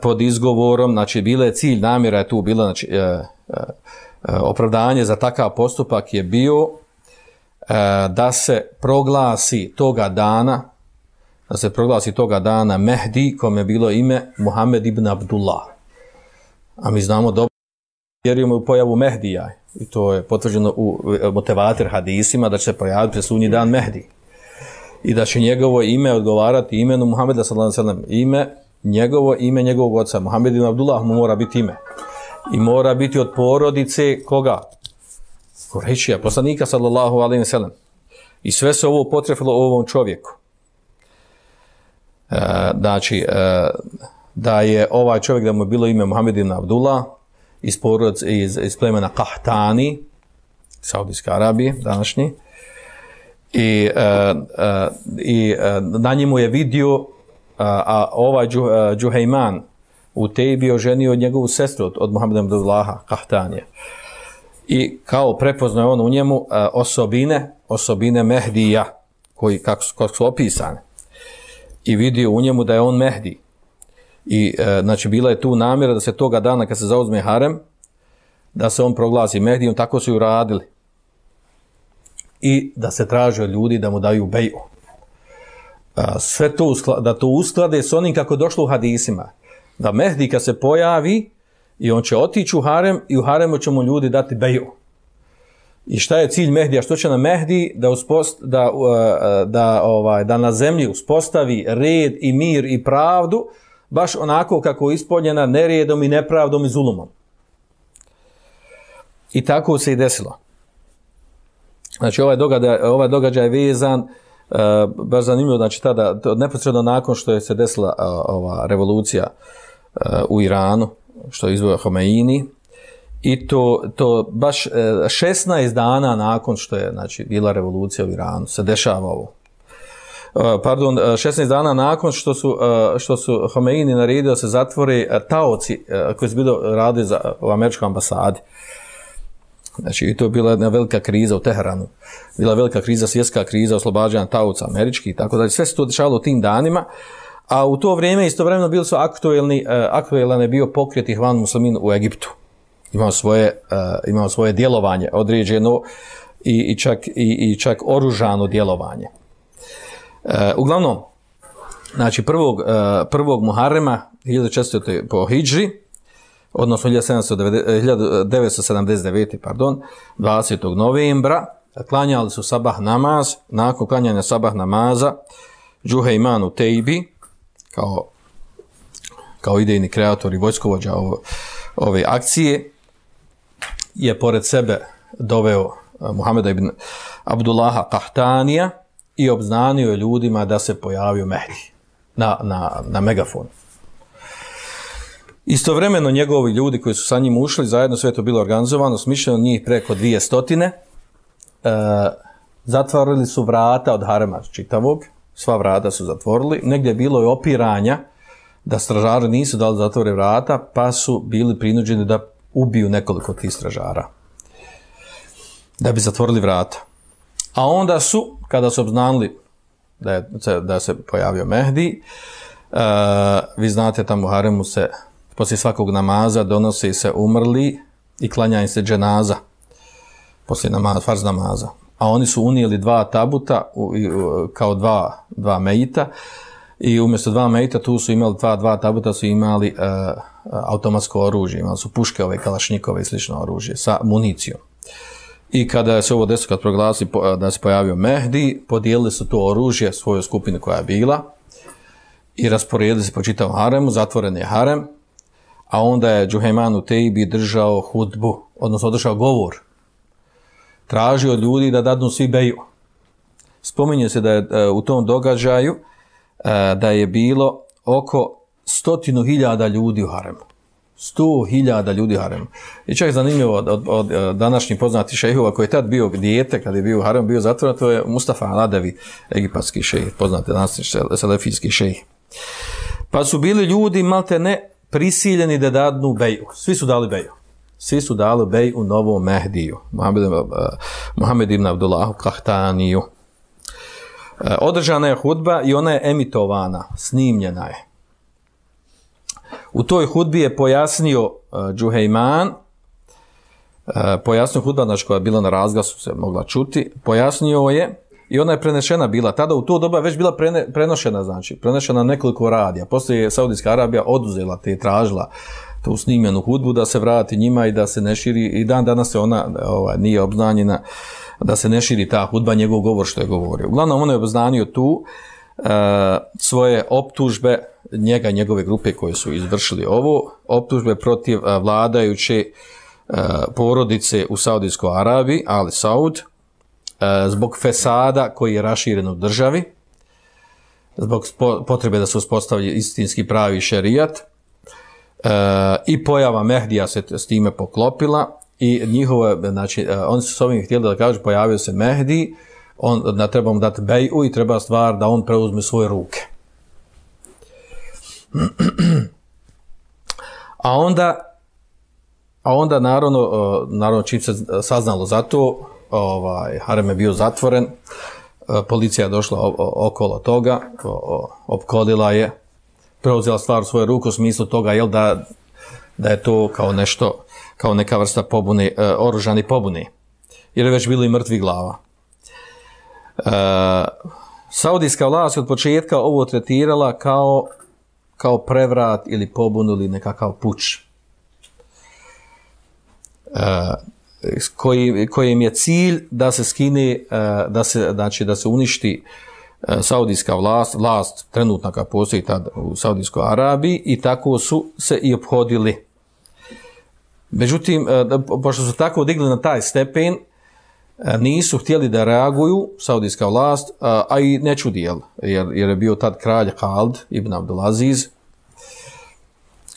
pod izgovorom, znači, bila je cilj, namjera je tu bila, znači, opravdanje za takav postupak je bio da se proglasi toga dana, da se proglasi toga dana Mehdi, kome je bilo ime Muhammed ibn Abdullah. A mi znamo dobro, vjerujemo u pojavu Mehdija. I to je potvrđeno u motivator hadisima da će se pojaviti presudnji dan Mehdi. I da će njegovo ime odgovarati imenu Muhameda sallallahu alejhi ve sellem. Ime, njegovo ime njegovog oca. Muhammed ibn Abdullah mu mora biti ime. I mora biti od porodice koga? Kurejšija, poslanika sallallahu alejhi ve sellem. I sve se ovo potrefilo ovom čovjeku. E, znači, e, da je ovaj čovjek, da mu je bilo ime Muhammed ibn Abdullah, iz porodice, iz, iz plemena Qahtani, Saudijske Arabije, današnji. I, uh, uh, i uh, na njemu je vidio, uh, a ovaj Džu, uh, Džuhejman u Tejbi oženio njegovu sestru od, od Muhammeda Abdullaha, Qahtanije. I kao prepoznao on u njemu uh, osobine, osobine Mehdija, koji kako su, kako su opisane. I vidio u njemu da je on Mehdi. I e, znači bila je tu namjera da se toga dana kad se zauzme harem, da se on proglasi Mehdijom, tako su i uradili. I da se traže od ljudi da mu daju beju. A, sve to uskla, da to usklade s onim kako došlo u hadisima. Da Mehdi kad se pojavi i on će otići u harem i u haremu će mu ljudi dati beju. I šta je cilj Mehdija? Što će na Mehdi? Da, uspost, da, da, ovaj, da na zemlji uspostavi red i mir i pravdu, baš onako kako je ispoljena neredom i nepravdom i zulumom. I tako se i desilo. Znači, ovaj događaj, ovaj događaj je vezan, uh, baš zanimljivo, znači, tada, neposredno nakon što je se desila uh, ova revolucija uh, u Iranu, što je izveo Homeini, i to, to baš uh, šesnaest dana nakon što je, znači, bila revolucija u Iranu, se dešava ovo. Pardon, šesnaest dana nakon što su, što su Homeini naredio da se zatvore taoci koji su bili radili za, u američkoj ambasadi. Znači, i to je bila jedna velika kriza u Teheranu. Bila velika kriza, svjetska kriza, oslobađanja taoca američkih, tako da sve se to dešavalo u tim danima. A u to vrijeme, istovremeno, bili su aktuelni, aktuelan je bio pokret Ihvan Muslimin u Egiptu. Imao svoje, imao svoje djelovanje određeno i, i, čak, i, i čak oružano djelovanje. Uh, uglavnom, znači prvog, uh, prvog Muharrema hiljadu četiristote po hidži, odnosno hiljadu devetsto sedamdeset devete pardon, dvadesetog novembra, klanjali su sabah namaz. Nakon klanjanja sabah namaza Džuhejman Utejbi, kao, kao idejni kreator i vojskovođa ove akcije je pored sebe doveo Muhameda ibn Abdullaha Kahtanija i obznanio je ljudima da se pojavio Mehdi na, na, na megafonu. Istovremeno njegovi ljudi koji su sa njim ušli, zajedno sve to bilo organizovano, smišljeno njih preko dvije stotine, e, zatvorili su vrata od harema čitavog, sva vrata su zatvorili, negdje je bilo i opiranja da stražari nisu dali zatvore vrata, pa su bili prinuđeni da ubiju nekoliko tih stražara, da bi zatvorili vrata. A onda su, kada su obznanili da, je, da se pojavio Mehdi, e, vi znate tamo u haremu se poslije svakog namaza donosi se umrli i klanja im se dženaza poslije namaza, farz namaza. A oni su unijeli dva tabuta u, u, kao dva, dva mejita i umjesto dva mejita tu su imali dva, dva tabuta su imali uh, automatsko oružje, imali su puške, ove kalašnjikove i slično oružje sa municijom. I kada se ovo desilo, kad proglasi da se pojavio Mehdi, podijelili su to oružje svojoj skupini koja je bila i rasporedili se po čitavom haremu, zatvoren je harem, a onda je Džuhejman Utejbi držao hudbu, odnosno održao govor. Tražio od ljudi da dadnu svi beju. Spominje se da je u tom događaju da je bilo oko stotinu hiljada ljudi u haremu. Sto hiljada ljudi u haremu. I čak je zanimljivo od, od, od današnjih poznatih šejhova koji je tad bio dijete, kad je bio u haremu, bio zatvoren, to je Mustafa Aladevi, egipatski šejh, poznate današnji selefijski šejh. Pa su bili ljudi malte ne prisiljeni da dadnu beju. Svi su dali beju. Svi su dali beju u novom Mehdiju, Muhammed ibn Abdullahu Kahtaniju. Održana je hudba i ona je emitovana, snimljena je. U toj hudbi je pojasnio uh, Džuhejman, uh, pojasnio hudba, znači koja je bila na razglasu, se mogla čuti, pojasnio je i ona je prenešena bila. Tada u to doba već bila prene, prenošena, znači prenošena nekoliko radija. Poslije je Saudijska Arabija oduzela te, tražila tu snimljenu hudbu da se vrati njima i da se ne širi, i dan danas se ona ovaj, nije obznanjena, da se ne širi ta hudba, njegov govor što je govorio. Uglavnom on je obznanio tu uh, svoje optužbe, njega i njegove grupe koje su izvršili ovo, optužbe protiv uh, vladajuće uh, porodice u Saudijskoj Arabiji, Ali Saud, uh, zbog fesada koji je raširen u državi, zbog potrebe da se uspostavlja istinski pravi šerijat, uh, i pojava Mehdija se s time poklopila i njihove, znači, uh, oni su s ovim htjeli da kažu, pojavio se Mehdi, on, da treba mu dati beju i treba stvar da on preuzme svoje ruke. A onda, a onda naravno, naravno čim se saznalo za to, ovaj, harem je bio zatvoren, policija je došla okolo toga, opkolila je, preuzela stvar u svoje ruke u smislu toga, jel, da, da je to kao nešto, kao neka vrsta pobune, oružani pobune, jer je već bilo i mrtvi glava. E, Saudijska vlast od početka ovo tretirala kao kao prevrat ili pobunu ili nekakav puč, e, koji, kojim je cilj da se skine, e, da se, znači da se uništi e, saudijska vlast, vlast trenutna koja postoji tad u Saudijskoj Arabiji, i tako su se i ophodili. Međutim, e, pošto su tako digli na taj stepen, e, nisu htjeli da reaguju saudijska vlast, a, a i ne čudi, jer, jer je bio tad kralj Khalid ibn Abdulaziz,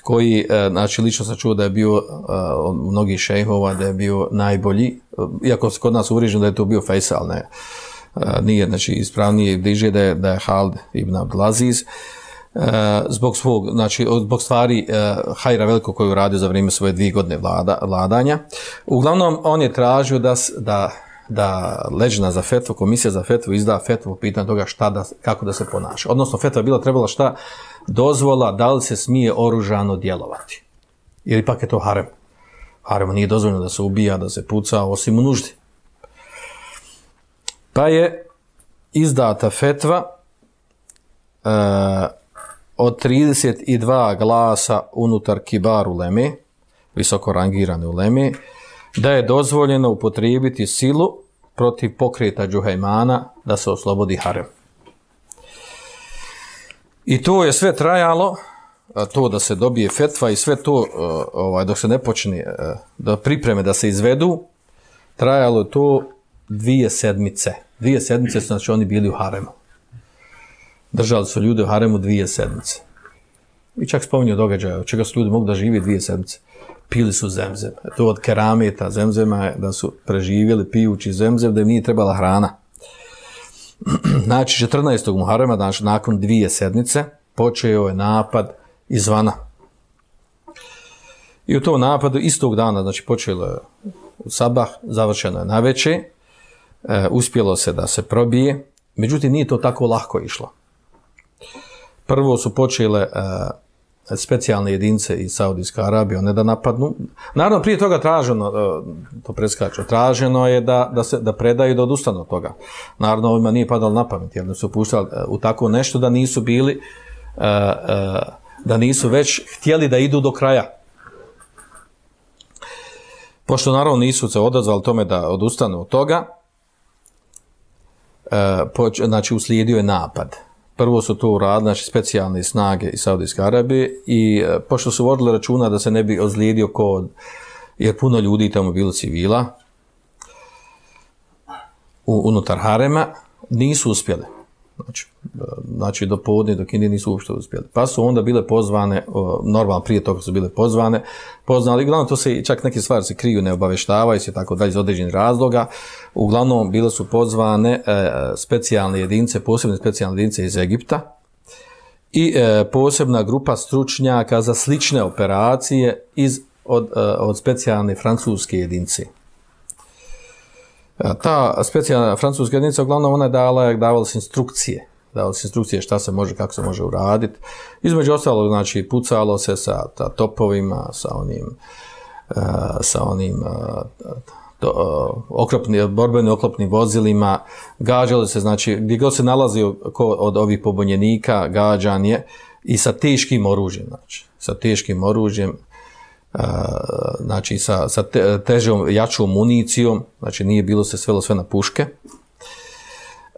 koji, znači, lično sam čuo da je bio od mnogih šejhova, da je bio najbolji, iako se kod nas uvriježeno da je to bio Faisal, ne, nije, znači, ispravnije i bliže da je, da je Khalid ibn Abdulaziz, zbog svog, znači, zbog stvari hajra veliko koju uradio za vrijeme svoje dvije godine vlada, vladanja. Uglavnom, on je tražio da, da, da leđna za fetvu, komisija za fetvu izda fetvu po pitanju toga šta da, kako da se ponaša. Odnosno, fetva je bila trebala šta dozvola da li se smije oružano djelovati. Jer ipak je to harem. Haremu nije dozvoljeno da se ubija, da se puca, osim u nuždi. Pa je izdata fetva e, od trideset dva glasa unutar kibar uleme, visoko rangirane uleme, da je dozvoljeno upotrijebiti silu protiv pokreta Džuhejmana da se oslobodi harem. I to je sve trajalo to da se dobije fetva i sve to ovaj, dok se ne počne da pripreme da se izvedu, trajalo je to dvije sedmice. Dvije sedmice su znači oni bili u haremu. Držali su ljudi u haremu dvije sedmice. I čak spominju događaja, od čega su ljudi mogli da živi dvije sedmice. Pili su zemzem. To od kerameta zemzema je da su preživjeli pijući zemzem, da im nije trebala hrana. Znači, četrnaestog Muharema, znači nakon dvije sedmice, počeo je napad izvana. I u tom napadu istog dana, znači počelo je u sabah, završeno je naveče, e, uspjelo se da se probije, međutim nije to tako lako išlo. Prvo su počele e, specijalne jedinice iz Saudijske Arabije, one da napadnu. Naravno, prije toga traženo, to preskaču, traženo je da, da, se, da predaju da odustanu od toga. Naravno, ovima nije padalo na pamet, jer su puštali u tako nešto da nisu bili, da nisu već htjeli da idu do kraja. Pošto naravno nisu se odazvali tome da odustanu od toga, znači uslijedio je napad. Prvo su to uradili, znači specijalne snage iz Saudijske Arabije i e, pošto su vodili računa da se ne bi ozlijedio kod, jer puno ljudi tamo bilo civila u, unutar harema, nisu uspjeli. Znači, znači do podne, do kindi nisu uopšte uspjeli. Pa su onda bile pozvane, o, normalno prije toga su bile pozvane, poznali, uglavnom to se čak neke stvari se kriju, ne obaveštavaju se tako dalje iz određenih razloga. Uglavnom bile su pozvane e, specijalne jedinice, posebne specijalne jedinice iz Egipta i e, posebna grupa stručnjaka za slične operacije iz, od, e, od specijalne francuske jedinice. Ta specijalna francuska jedinica, uglavnom ona je dala, davala se instrukcije, davala se instrukcije šta se može, kako se može uraditi. Između ostalo, znači, pucalo se sa ta, topovima, sa onim, uh, sa onim uh, to, uh, oklopni, borbenim oklopnim vozilima, gađalo se, znači, gdje god se nalazio ko od ovih pobunjenika, gađan je i sa teškim oružjem, znači, sa teškim oružjem, Uh, znači sa, sa te, težom, jačom municijom, znači nije bilo se svelo sve na puške.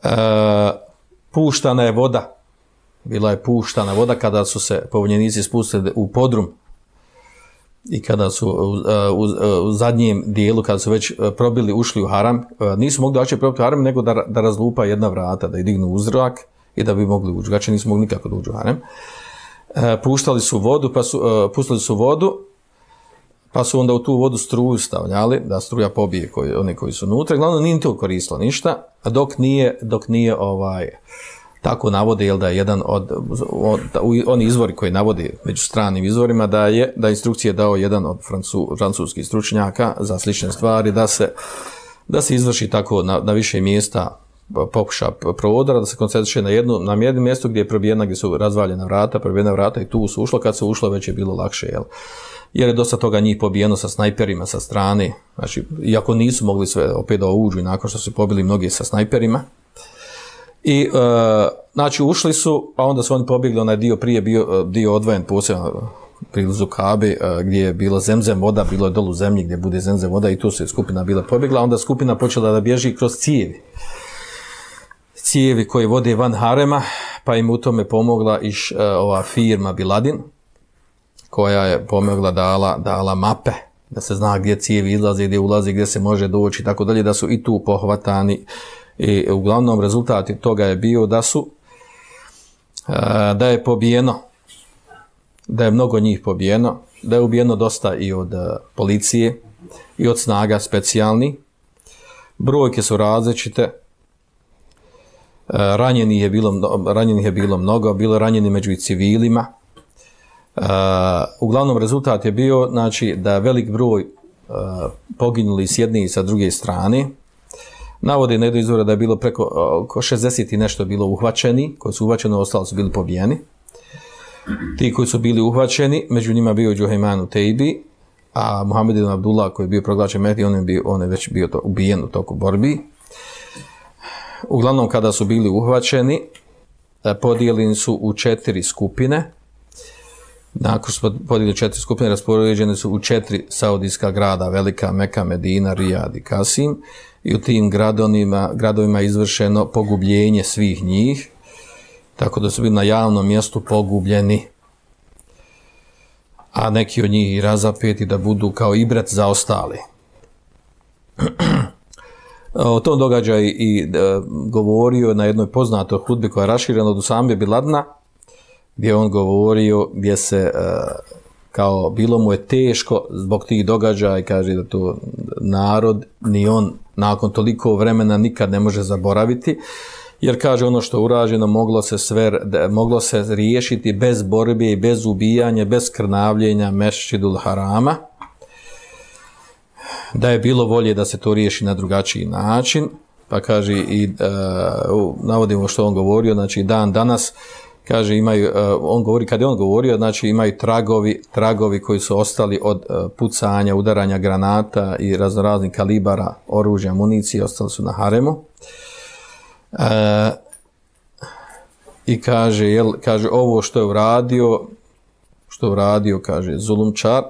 Uh, puštana je voda, bila je puštana voda kada su se pobunjenici spustili u podrum i kada su u, u, u zadnjem dijelu, kada su već probili, ušli u haram, uh, nisu mogli daći probiti u haram, nego da, da razlupa jedna vrata, da je dignu u zrak i da bi mogli ući. Znači nisu mogli nikako da uđu u haram. Uh, puštali su vodu, pa su, uh, pustili su vodu, pa su onda u tu vodu struju stavljali, da struja pobije koji, one koji su unutra. Glavno nije to koristilo ništa, a dok nije, dok nije ovaj, tako navode, jel da je jedan od, od oni izvori koji navode među stranim izvorima, da je da instrukcije dao jedan od francu, francuskih stručnjaka za slične stvari, da se, da se izvrši tako na, na više mjesta pokuša prodora, da se koncentriše na jedno, na jedno mjesto gdje je probijena, gdje su razvaljena vrata, probijena vrata i tu su ušlo, kad se ušlo već je bilo lakše, jel? Jer je dosta toga njih pobijeno sa snajperima sa strane, znači, iako nisu mogli sve opet da uđu i nakon što su pobili mnogi sa snajperima. I, e, znači, ušli su, pa onda su oni pobjegli, onaj dio prije bio dio odvojen posebno priblizu Kabe, e, gdje je bilo zemzem voda, bilo je dolu zemlji gdje bude zemzem voda i tu se skupina bila pobjegla, onda skupina počela da bježi kroz cijevi. Cijevi koje vode van harema, pa im u tome pomogla i š, e, ova firma Biladin, koja je pomogla, dala, dala mape, da se zna gdje cijevi izlaze, gdje ulazi, gdje se može doći i tako dalje, da su i tu pohvatani. I uglavnom rezultati toga je bio da su, da je pobijeno, da je mnogo njih pobijeno, da je ubijeno dosta i od policije i od snaga specijalni. Brojke su različite, ranjenih je bilo, ranjenih je bilo mnogo, bilo ranjeni među i civilima. Uh, uglavnom rezultat je bio, znači, da velik broj uh, poginuli s jedne i sa druge strane. Navode na jednu izvora da je bilo preko uh, oko šezdeset i nešto bilo uhvaćeni, koji su uhvaćeni, ostali su bili pobijeni. Ti koji su bili uhvaćeni, među njima bio Džuhejman Tejbi, a Muhammed ibn Abdullah koji je bio proglašen Mehdi, on je, bio, on je već bio to, ubijen u toku borbi. Uglavnom kada su bili uhvaćeni, podijeljeni su u četiri skupine. Nakon što podijelili četiri skupine, raspoređene su u četiri saudijska grada, Velika, Meka, Medina, Rijad i Kasim, i u tim gradovima, gradovima je izvršeno pogubljenje svih njih, tako da su bili na javnom mjestu pogubljeni. a neki od njih i razapeti da budu kao ibret za ostali. O tom događaju i e, govorio na jednoj poznatoj hudbi koja je raširena od Usame bin Ladna, gdje on govorio gdje se e, kao bilo mu je teško zbog tih događaja i kaže da to narod ni on nakon toliko vremena nikad ne može zaboraviti, jer kaže ono što je urađeno moglo se sve moglo se riješiti bez borbe i bez ubijanja, bez krnavljenja Mešćidul Harama, da je bilo volje da se to riješi na drugačiji način. Pa kaže i uh, navodimo što on govorio, znači dan danas kaže imaju, uh, on govori kad je on govorio, znači imaju tragovi, tragovi koji su ostali od uh, pucanja, udaranja granata i raznoraznih kalibara oružja, municije, ostali su na haremu. Uh, I kaže, jel, kaže ovo što je uradio, što je uradio, kaže zulumčar,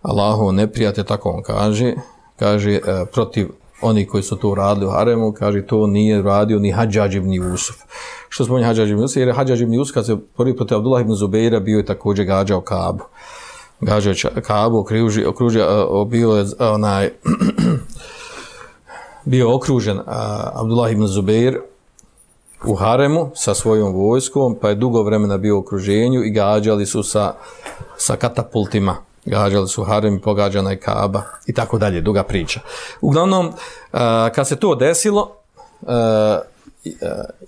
Allahov neprijatelj, tako on kaže, kaže uh, protiv oni koji su to uradili u haremu, kaže to nije radio ni Hadžadž ibn Jusuf. Što spominje Hadžadž ibn Jusuf? Jer je Hadžadž ibn Jusuf kad se prvi protiv Abdullah ibn Zubeira bio je također gađao Kabu. Gađao Kabu, okružio, okružio, bio je onaj, bio okružen uh, Abdullah ibn Zubeir u haremu sa svojom vojskom, pa je dugo vremena bio u okruženju i gađali su sa, sa katapultima. Gađali su harem i pogađana je Kaaba i tako dalje, duga priča. Uglavnom, uh, kad se to desilo, uh, uh,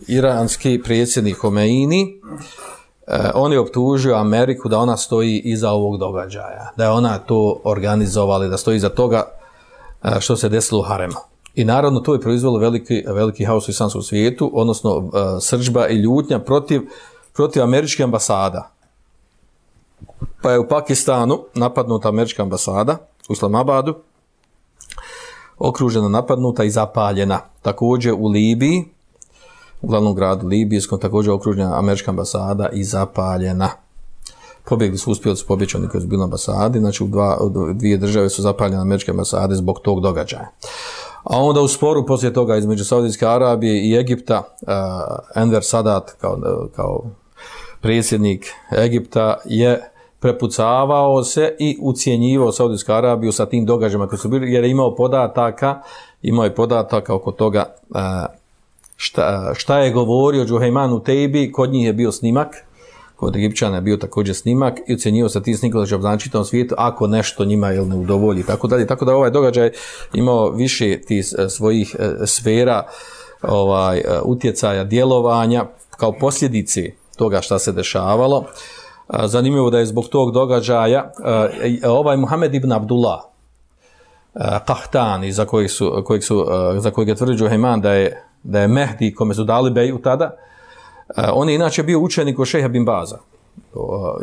iranski predsjednik Homeini, uh, on je optužio Ameriku da ona stoji iza ovog događaja, da je ona to organizovala, da stoji iza toga uh, što se desilo u haremu. I naravno to je proizvelo veliki, veliki haos u islamskom svijetu, odnosno uh, srdžba i ljutnja protiv, protiv američke ambasada. Pa je u Pakistanu napadnuta američka ambasada u Islamabadu, okružena, napadnuta i zapaljena. Također u Libiji, u glavnom gradu Libijskom, također okružena američka ambasada i zapaljena. Pobjegli su, uspjeli su pobjeći oni koji su bili na ambasadi, znači u, dva, u dvije države su zapaljene američke ambasade zbog tog događaja. A onda u sporu poslije toga između Saudijske Arabije i Egipta, uh, Enver Sadat kao, kao predsjednik Egipta je prepucavao se i ucijenjivao Saudijsku Arabiju sa tim događajima koji su bili, jer je imao podataka, imao je podataka oko toga šta, šta je govorio Džuhejman Utejbi, kod njih je bio snimak, kod Egipćana je bio također snimak i ucijenjivao sa tim snikom da će obznaniti čitavom svijetu ako nešto njima jel, ne udovolji, tako dalje. Tako da ovaj događaj imao više tih svojih sfera ovaj, utjecaja, djelovanja kao posljedice toga šta se dešavalo. Zanimljivo da je zbog tog događaja ovaj Muhammed ibn Abdullah Qahtani, za kojeg su, kojeg su, za kojeg je tvrdio Džuhejman da je, da je Mehdi kome su dali beju tada, on je inače bio učenik od šejha bin Baza.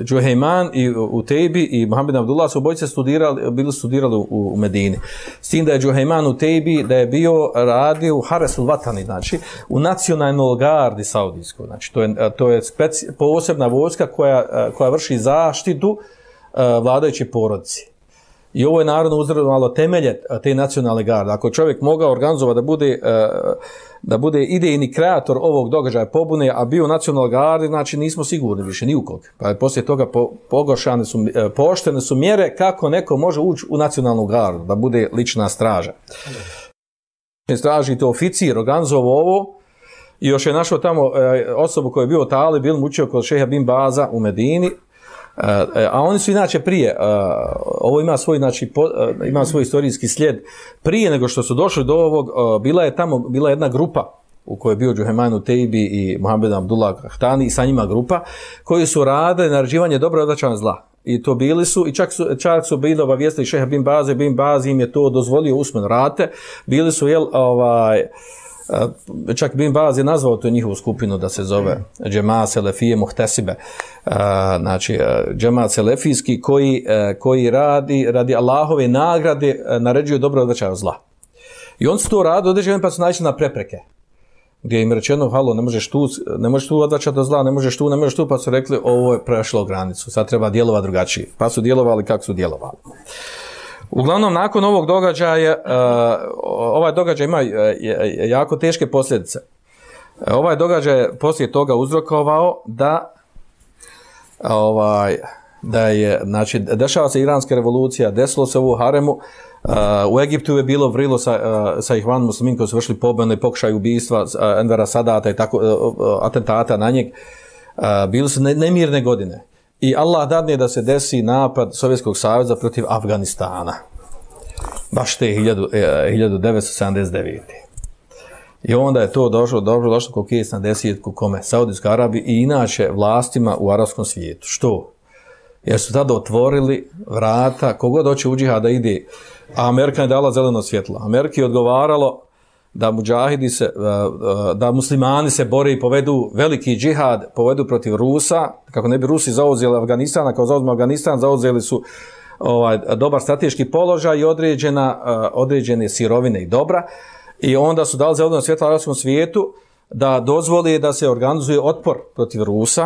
Džuhejman i Utejbi i Muhammed ibn Abdullah su obojice studirali, bili studirali u, u Medini. S tim da je Džuhejman Utejbi da je bio radio u Haresul Vatani, znači u nacionalnoj gardi saudijskoj. Znači to je, to je speci, posebna vojska koja, koja vrši zaštitu uh, vladajuće porodici. I ovo je naravno uzralo temelje te nacionalne garde. Ako čovjek mogao organizovati da bude, da bude idejni kreator ovog događaja pobune, a bio u nacionalnoj gardi, znači nismo sigurni više ni u kog. Pa poslije toga pogošane su, pooštene su mjere kako neko može ući u nacionalnu gardu, da bude lična straža. Straži to oficir organizovao ovo i još je našao tamo osobu koja je bio talib, bil mučio kod šejha bin Baza u Medini. Uh, a oni su inače prije, uh, ovo ima svoj, znači, po, uh, ima svoj istorijski slijed, prije nego što su došli do ovog, uh, bila je tamo, bila jedna grupa u kojoj je bio Džuhejman Utejbi i Muhammed Abdullah Qahtani i sa njima grupa, koji su radili naređivanje dobra i odvraćanja zla. I to bili su, i čak su, čak su bili obavijestili šeha bin Baze, bin Bazi im je to dozvolio usmeno rate, bili su, jel, ovaj, čak bin Baz je nazvao tu njihovu skupinu da se zove Džema Selefije Muhtesibe, znači Džema Selefijski koji, koji radi, radi Allahove nagrade naređuju dobro odvraćaju zla. I on su to radi određeni pa su naišli na prepreke. Gdje im rečeno, halo, ne možeš tu, ne možeš tu odvraćati od zla, ne možeš tu, ne možeš tu, pa su rekli, ovo je prešlo granicu, sad treba djelovati drugačije. Pa su djelovali kako su djelovali. Uglavnom, nakon ovog događaja, uh, ovaj događaj ima jako teške posljedice. Uh, ovaj događaj je poslije toga uzrokovao da, ovaj, da je, znači, dešava se iranska revolucija, desilo se ovo u haremu, uh, u Egiptu je bilo vrilo sa, uh, sa Ihvan Muslimin koji su vršili pobune, pokušaj ubistva uh, Envera Sadata i tako, uh, uh, atentata na njeg. Uh, bili su ne, nemirne godine. I Allah dadne da se desi napad Sovjetskog saveza protiv Afganistana. Baš te hiljadu devetsto sedamdeset devete. I onda je to došlo, dobro došlo ko kjes na desetku kome, Saudijskoj Arabiji i inače vlastima u arapskom svijetu. Što? Jer su tada otvorili vrata, kogod hoće u džihad da ide, a Amerika je dala zeleno svjetlo. Amerika je odgovaralo da muđahidi se, da muslimani se bore i povedu veliki džihad, povedu protiv Rusa, kako ne bi Rusi zauzeli Afganistan, kao zauzme Afganistan, zauzeli su ovaj, dobar strateški položaj i određena, određene sirovine i dobra. I onda su dali zeleno svjetlo arapskom svijetu da dozvoli da se organizuje otpor protiv Rusa,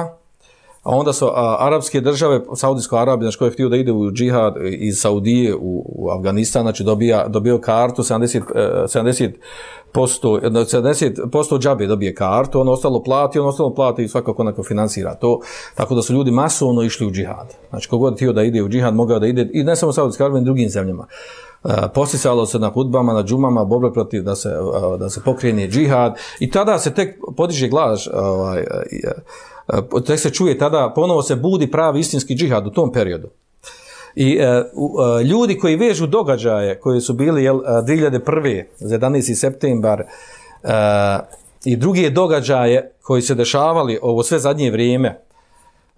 a onda su a, arapske države, Saudijsko Arabija, znači koji je htio da ide u džihad iz Saudije u, u Afganistan, znači dobija, dobio kartu, sedamdeset posto džabe dobije kartu, ono ostalo plati, ono ostalo plati i svakako onako finansira to, tako da su ljudi masovno išli u džihad. Znači kogod htio da ide u džihad, mogao da ide, i ne samo u Saudijskoj Arabiji, i drugim zemljama. Uh, posticalo se na hudbama, na džumama, borbe protiv da se, uh, da se pokrene džihad i tada se tek podiže glas, ovaj, uh, uh, tek se čuje tada, ponovo se budi pravi istinski džihad u tom periodu. I uh, uh, ljudi koji vežu događaje koji su bili jel, dvije hiljade prve, jedanaesti septembar uh, i druge događaje koji se dešavali ovo sve zadnje vrijeme,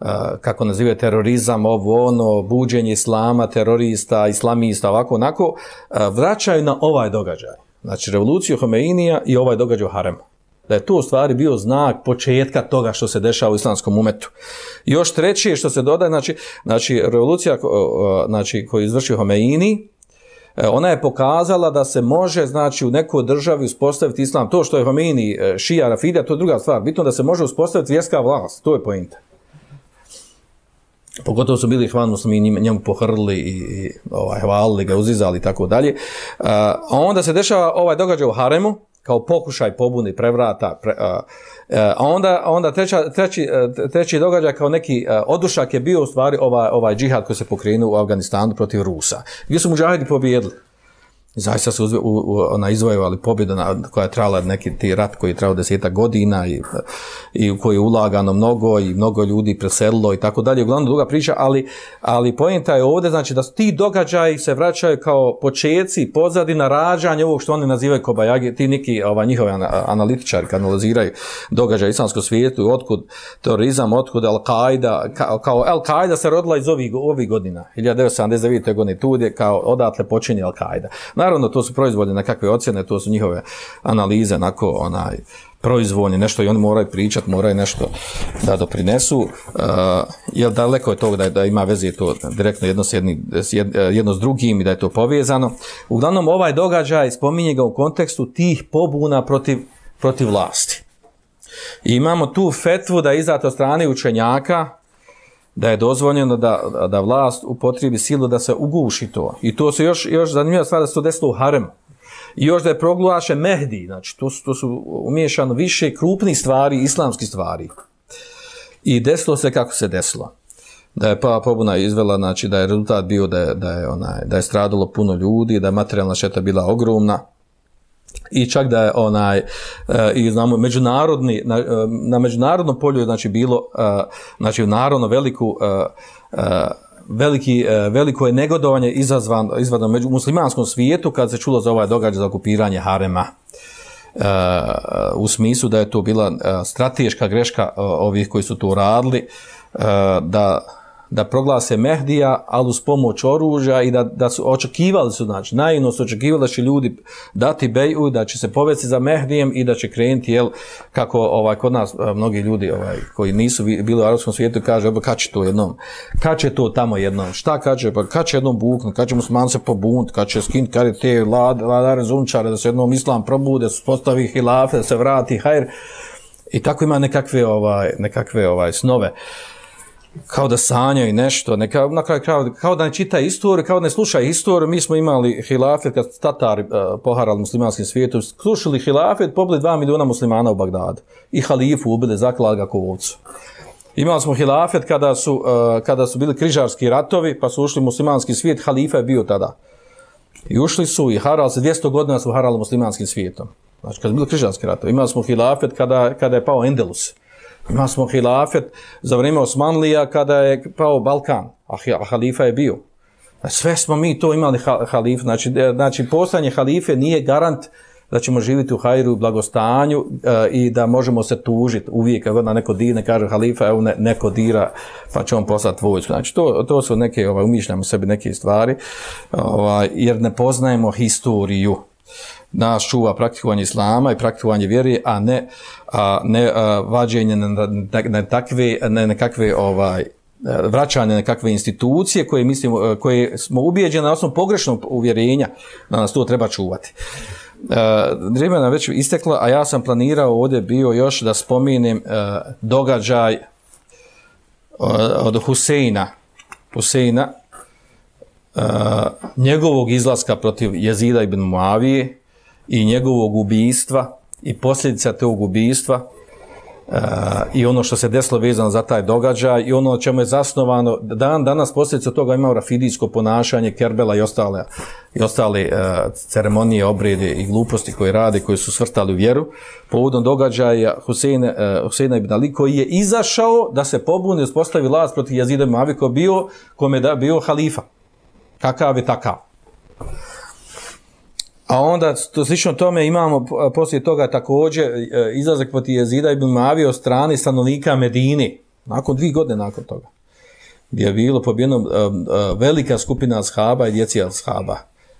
Uh, kako nazivaju terorizam, ovo ono, buđenje islama, terorista, islamista, ovako, onako, uh, vraćaju na ovaj događaj. Znači, revoluciju Homeinija i ovaj događaj u haremu. Da je to u stvari bio znak početka toga što se dešava u islamskom umetu. I još treće što se dodaje, znači, znači revolucija uh, znači, koju izvršio Homeini, uh, ona je pokazala da se može, znači, u nekoj državi uspostaviti islam. To što je Homeini, uh, šija, rafidija, to je druga stvar. Bitno da se može uspostaviti vjerska vlast. To je pointa. Pogotovo su bili Ihvan Muslimini, njemu pohrlili i, i ovaj, hvalili ga, uzizali i tako dalje. A onda se dešava ovaj događaj u haremu, kao pokušaj pobune, prevrata, pre, a, a onda, onda treća, treći, treći događaj kao neki a, odušak je bio u stvari ovaj, ovaj džihad koji se pokrenuo u Afganistanu protiv Rusa, gdje su muđahidi pobijedili. Zaista su uzve, u, u, ona izvojevali pobjedu na, koja je trajala neki ti rat koji je trajao desetak godina i, i u koji je ulagano mnogo i mnogo ljudi preselilo i tako dalje. Uglavnom druga priča, ali, ali poenta je ovdje, znači da ti događaji se vraćaju kao počeci, pozadina rađanja ovog što oni nazivaju kobajagi, ti neki ova, njihovi analitičari kad analiziraju događaje u islamskom svijetu, otkud terorizam, otkud Al-Qaida, kao, kao Al-Qaida se rodila iz ovih, ovih godina, hiljadu devetsto sedamdeset devete. godine, tu je kao odatle počinje Al-Qaida. Naravno, to su proizvodne nekakve ocjene, to su njihove analize, onako, onaj, proizvodnje, nešto i oni moraju pričati, moraju nešto da doprinesu, uh, jer daleko je to da, da ima veze to direktno jedno s, jedni, jedno s drugim i da je to povezano. Uglavnom, ovaj događaj spominje ga u kontekstu tih pobuna protiv, protiv vlasti. I imamo tu fetvu da je izdata od strane učenjaka, da je dozvoljeno da, da vlast upotrijebi silu da se uguši to. I to se još, još zanimljiva stvar da se to desilo u haremu. I još da je proglašen Mehdi, znači to su, to su umiješano više krupnih stvari, islamskih stvari. I desilo se kako se desilo. Da je pa pobuna izvela, znači da je rezultat bio da je, da je, onaj, da je stradalo puno ljudi, da je materijalna šteta bila ogromna. I čak da je onaj e, i znamo međunarodni na, na međunarodnom polju znači bilo e, znači narodno veliku e, e, veliki e, veliko je negodovanje izazvano izvano među muslimanskom svijetu kad se čulo za ovaj događaj za okupiranje harema. E, u smislu da je to bila e, strateška greška e, ovih koji su to radili e, da da proglase Mehdija, ali uz pomoć oružja i da, da su očekivali su, znači, naivno su očekivali da će ljudi dati beju, da će se povesti za Mehdijem i da će krenuti, jel, kako ovaj, kod nas mnogi ljudi ovaj, koji nisu bili u arapskom svijetu kaže, kad će to jednom, kad će to tamo jednom, šta kad će, pa kad će jednom buknuti, kad će musliman se pobunt, kad će skinuti, kad je te vladare zunčare, da se jednom islam probude, da se postavi hilafe, da se vrati hajr i tako ima nekakve, ovaj, nekakve ovaj, snove. Kao da sanjaju nešto, neka, na kraju kao, kao da ne čita istoriju, kao da ne sluša istoriju. Mi smo imali hilafet, kad Tatari uh, poharali muslimanskim svijetom, slušali hilafet, pobili dva miliona muslimana u Bagdadu i halifu ubili, zaklali ga ko ovcu. Imali smo hilafet kada su, uh, kada su bili križarski ratovi, pa su ušli u muslimanski svijet, halifa je bio tada. I ušli su i harali se, dvjesto godina su harali muslimanskim svijetom. Znači, kada su bili križarski ratovi. Imali smo hilafet kada, kada je pao Endelus. Imali smo hilafet za vrijeme Osmanlija kada je pao Balkan, a halifa je bio. Sve smo mi to imali halif. Znači, znači postojanje halife nije garant da ćemo živjeti u hajru i blagostanju uh, i da možemo se tužiti uvijek kad na neko dira, ne kaže halifa, evo ne, neko dira pa će on poslati vojsku. Znači to, to su neke, ovaj, umišljamo sebi neke stvari, ovaj, jer ne poznajemo historiju. Nas čuva praktikovanje islama i praktikovanje vjere, a ne, a ne a, vađenje na, na, na takve, ne, nekakve ovaj, vraćanje nekakve institucije koje, mislimo, koje smo ubijeđeni na osnovu pogrešnog uvjerenja da nas to treba čuvati. Vrijeme nam već isteklo, a ja sam planirao ovdje bio još da spomenem uh, događaj uh, od Huseina, Huseina uh, njegovog izlaska protiv Jezida ibn Muavije i njegovog ubijstva i posljedica tog ubijstva uh, i ono što se desilo vezano za taj događaj i ono čemu je zasnovano. Dan danas posljedica toga imao rafidijsko ponašanje, Kerbela i ostale, i ostale uh, ceremonije, obrede i gluposti koje rade, koje su svrstali u vjeru. Povodom događaja Huseina, uh, Huseina ibn Ali koji je izašao da se pobuni i uspostavi vlast protiv Jezida ibn Muavije koji bio, kome da bio halifa. Kakav je takav. A onda, to, slično tome, imamo poslije toga također izlazak protiv Jezida ibn Muavije od strane stanovnika Medine, nakon dvije godine nakon toga, gdje je bilo pobijeno uh, uh, velika skupina ashaba i djeci ashaba,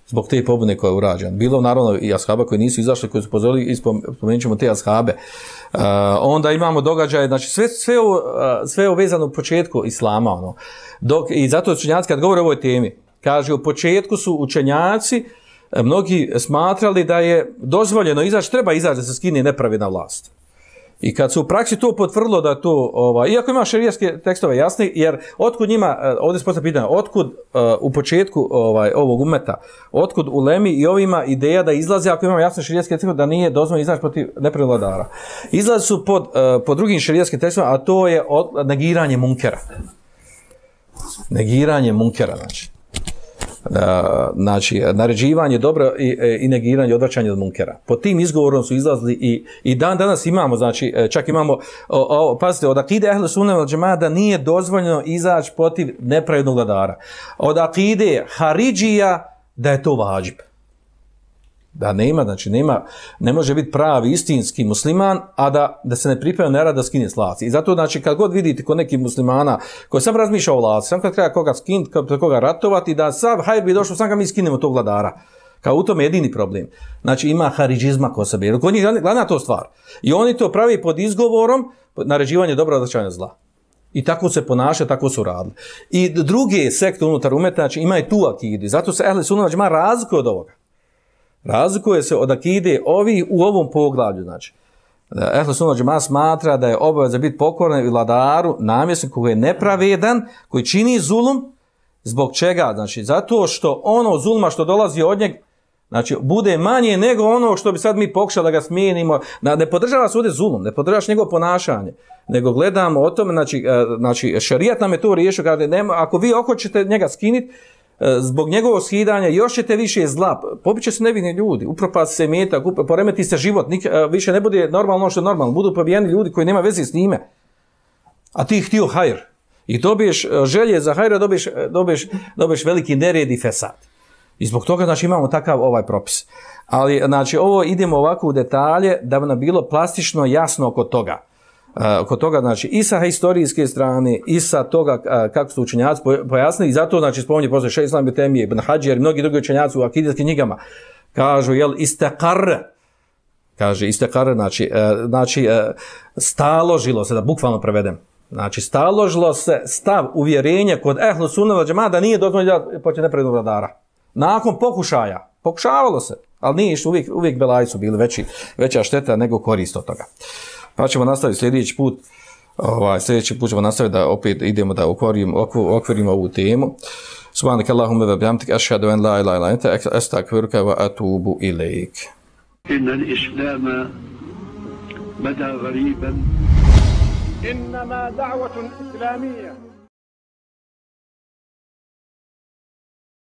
zbog te pobune koja je urađena. Bilo naravno i ashaba koji nisu izašli, koji su pozorili, i spomenut ćemo te ashabe. Uh, onda imamo događaje, znači sve, sve, ovo, uh, sve ovo vezano u početku islama. Ono. Dok, I zato učenjaci kad govore o ovoj temi, kaže u početku su učenjaci mnogi smatrali da je dozvoljeno izaći, treba izaći da se skine nepravedna vlast. I kad se u praksi to potvrdilo da to, ovaj, iako ima šerijatske tekstove jasni, jer otkud njima, ovdje se postavlja pitanje, otkud uh, u početku ovaj, ovog umeta, otkud ulemi i ovima ideja da izlaze, ako imamo jasne šerijatske tekstove, da nije dozvoljeno izaći protiv nepravednog vladara. Izlaze su pod, uh, pod drugim šerijatskim tekstovima, a to je od, negiranje munkera. Negiranje munkera, znači. Uh, znači, naređivanje dobro i, i negiranje, odvraćanje od munkera. Po tim izgovorom su izlazili i, i dan danas imamo, znači, čak imamo, o, o, pazite, od akide Ehle Sunne vel Džemaat da nije dozvoljeno izaći protiv nepravednog vladara. Od akide Haridžija da je to vađib. Da nema, znači nema, ne može biti pravi istinski musliman, a da, da se ne priprema ne rada da skine s vlasti. I zato, znači, kad god vidite kod nekih muslimana koji sam razmišlja o vlasti, sam kad treba koga skinuti, kad koga ratovati, da sad, hajde bi došlo, sam kad mi skinemo tog vladara. Kao u tome jedini problem. Znači, ima haridžizma kod sebe. Jer kod njih glavna to stvar. I oni to pravi pod izgovorom naređivanje dobra, odvraćanja zla. I tako se ponaša, tako su radili. I druge sekte unutar umeta, znači, imaju tu akidu. Zato se Ehle Sunne vel Džemaat razlikuje od ovoga. Razlikuje se od akide ovi u ovom poglavlju, znači. Ehle Sunne vel Džemaat smatra da je obaveza biti pokoran vladaru, namjesniku koji je nepravedan, koji čini zulum, zbog čega? Znači, zato što ono zulma što dolazi od njeg, znači, bude manje nego ono što bi sad mi pokušali da ga smijenimo. Ne podržava se ovdje zulum, ne podržavaš njegovo ponašanje, nego gledamo o tome, znači, znači šerijat nam je to riješio, kada nema, ako vi hoćete njega skiniti, zbog njegovog skidanja još ćete više zla, pobiće se nevini ljudi, upropasti se metak, poremeti se život, nik, više ne bude normalno što je normalno, budu pobijeni ljudi koji nema veze s njime, a ti htio hajr i dobiješ želje za hajra, dobiješ, dobiješ, dobiješ veliki nered i fesad. I zbog toga, znači, imamo takav ovaj propis. Ali, znači, ovo idemo ovako u detalje da bi nam bilo plastično jasno oko toga. Uh, oko toga, znači, i sa historijske strane, i sa toga uh, kako su učenjaci pojasnili, i zato, znači, spominje posle Šejh Islam ibn Temije, Ibn Hadžer i mnogi drugi učenjaci u akidijskim knjigama, kažu, jel, istekar, kaže, istekar, znači, uh, znači uh, staložilo se, da bukvalno prevedem, znači, staložilo se stav uvjerenja kod Ehlu Sunne vel Džemaat da nije dozvoljeno početi nepravednog vladara. Nakon pokušaja, pokušavalo se, ali nije što uvijek, uvijek belaji su bili veći, veća šteta nego korist od toga. Pa ćemo nastaviti sljedeći put, ovaj, sljedeći put ćemo nastaviti da opet idemo da okvirimo, okvirimo ovu temu. Subhanaka Allahumma wa bihamdika ashhadu an la ilaha illa anta astaghfiruka wa atubu ilaik. Inna al-islama bada ghariban إنما دعوة إسلامية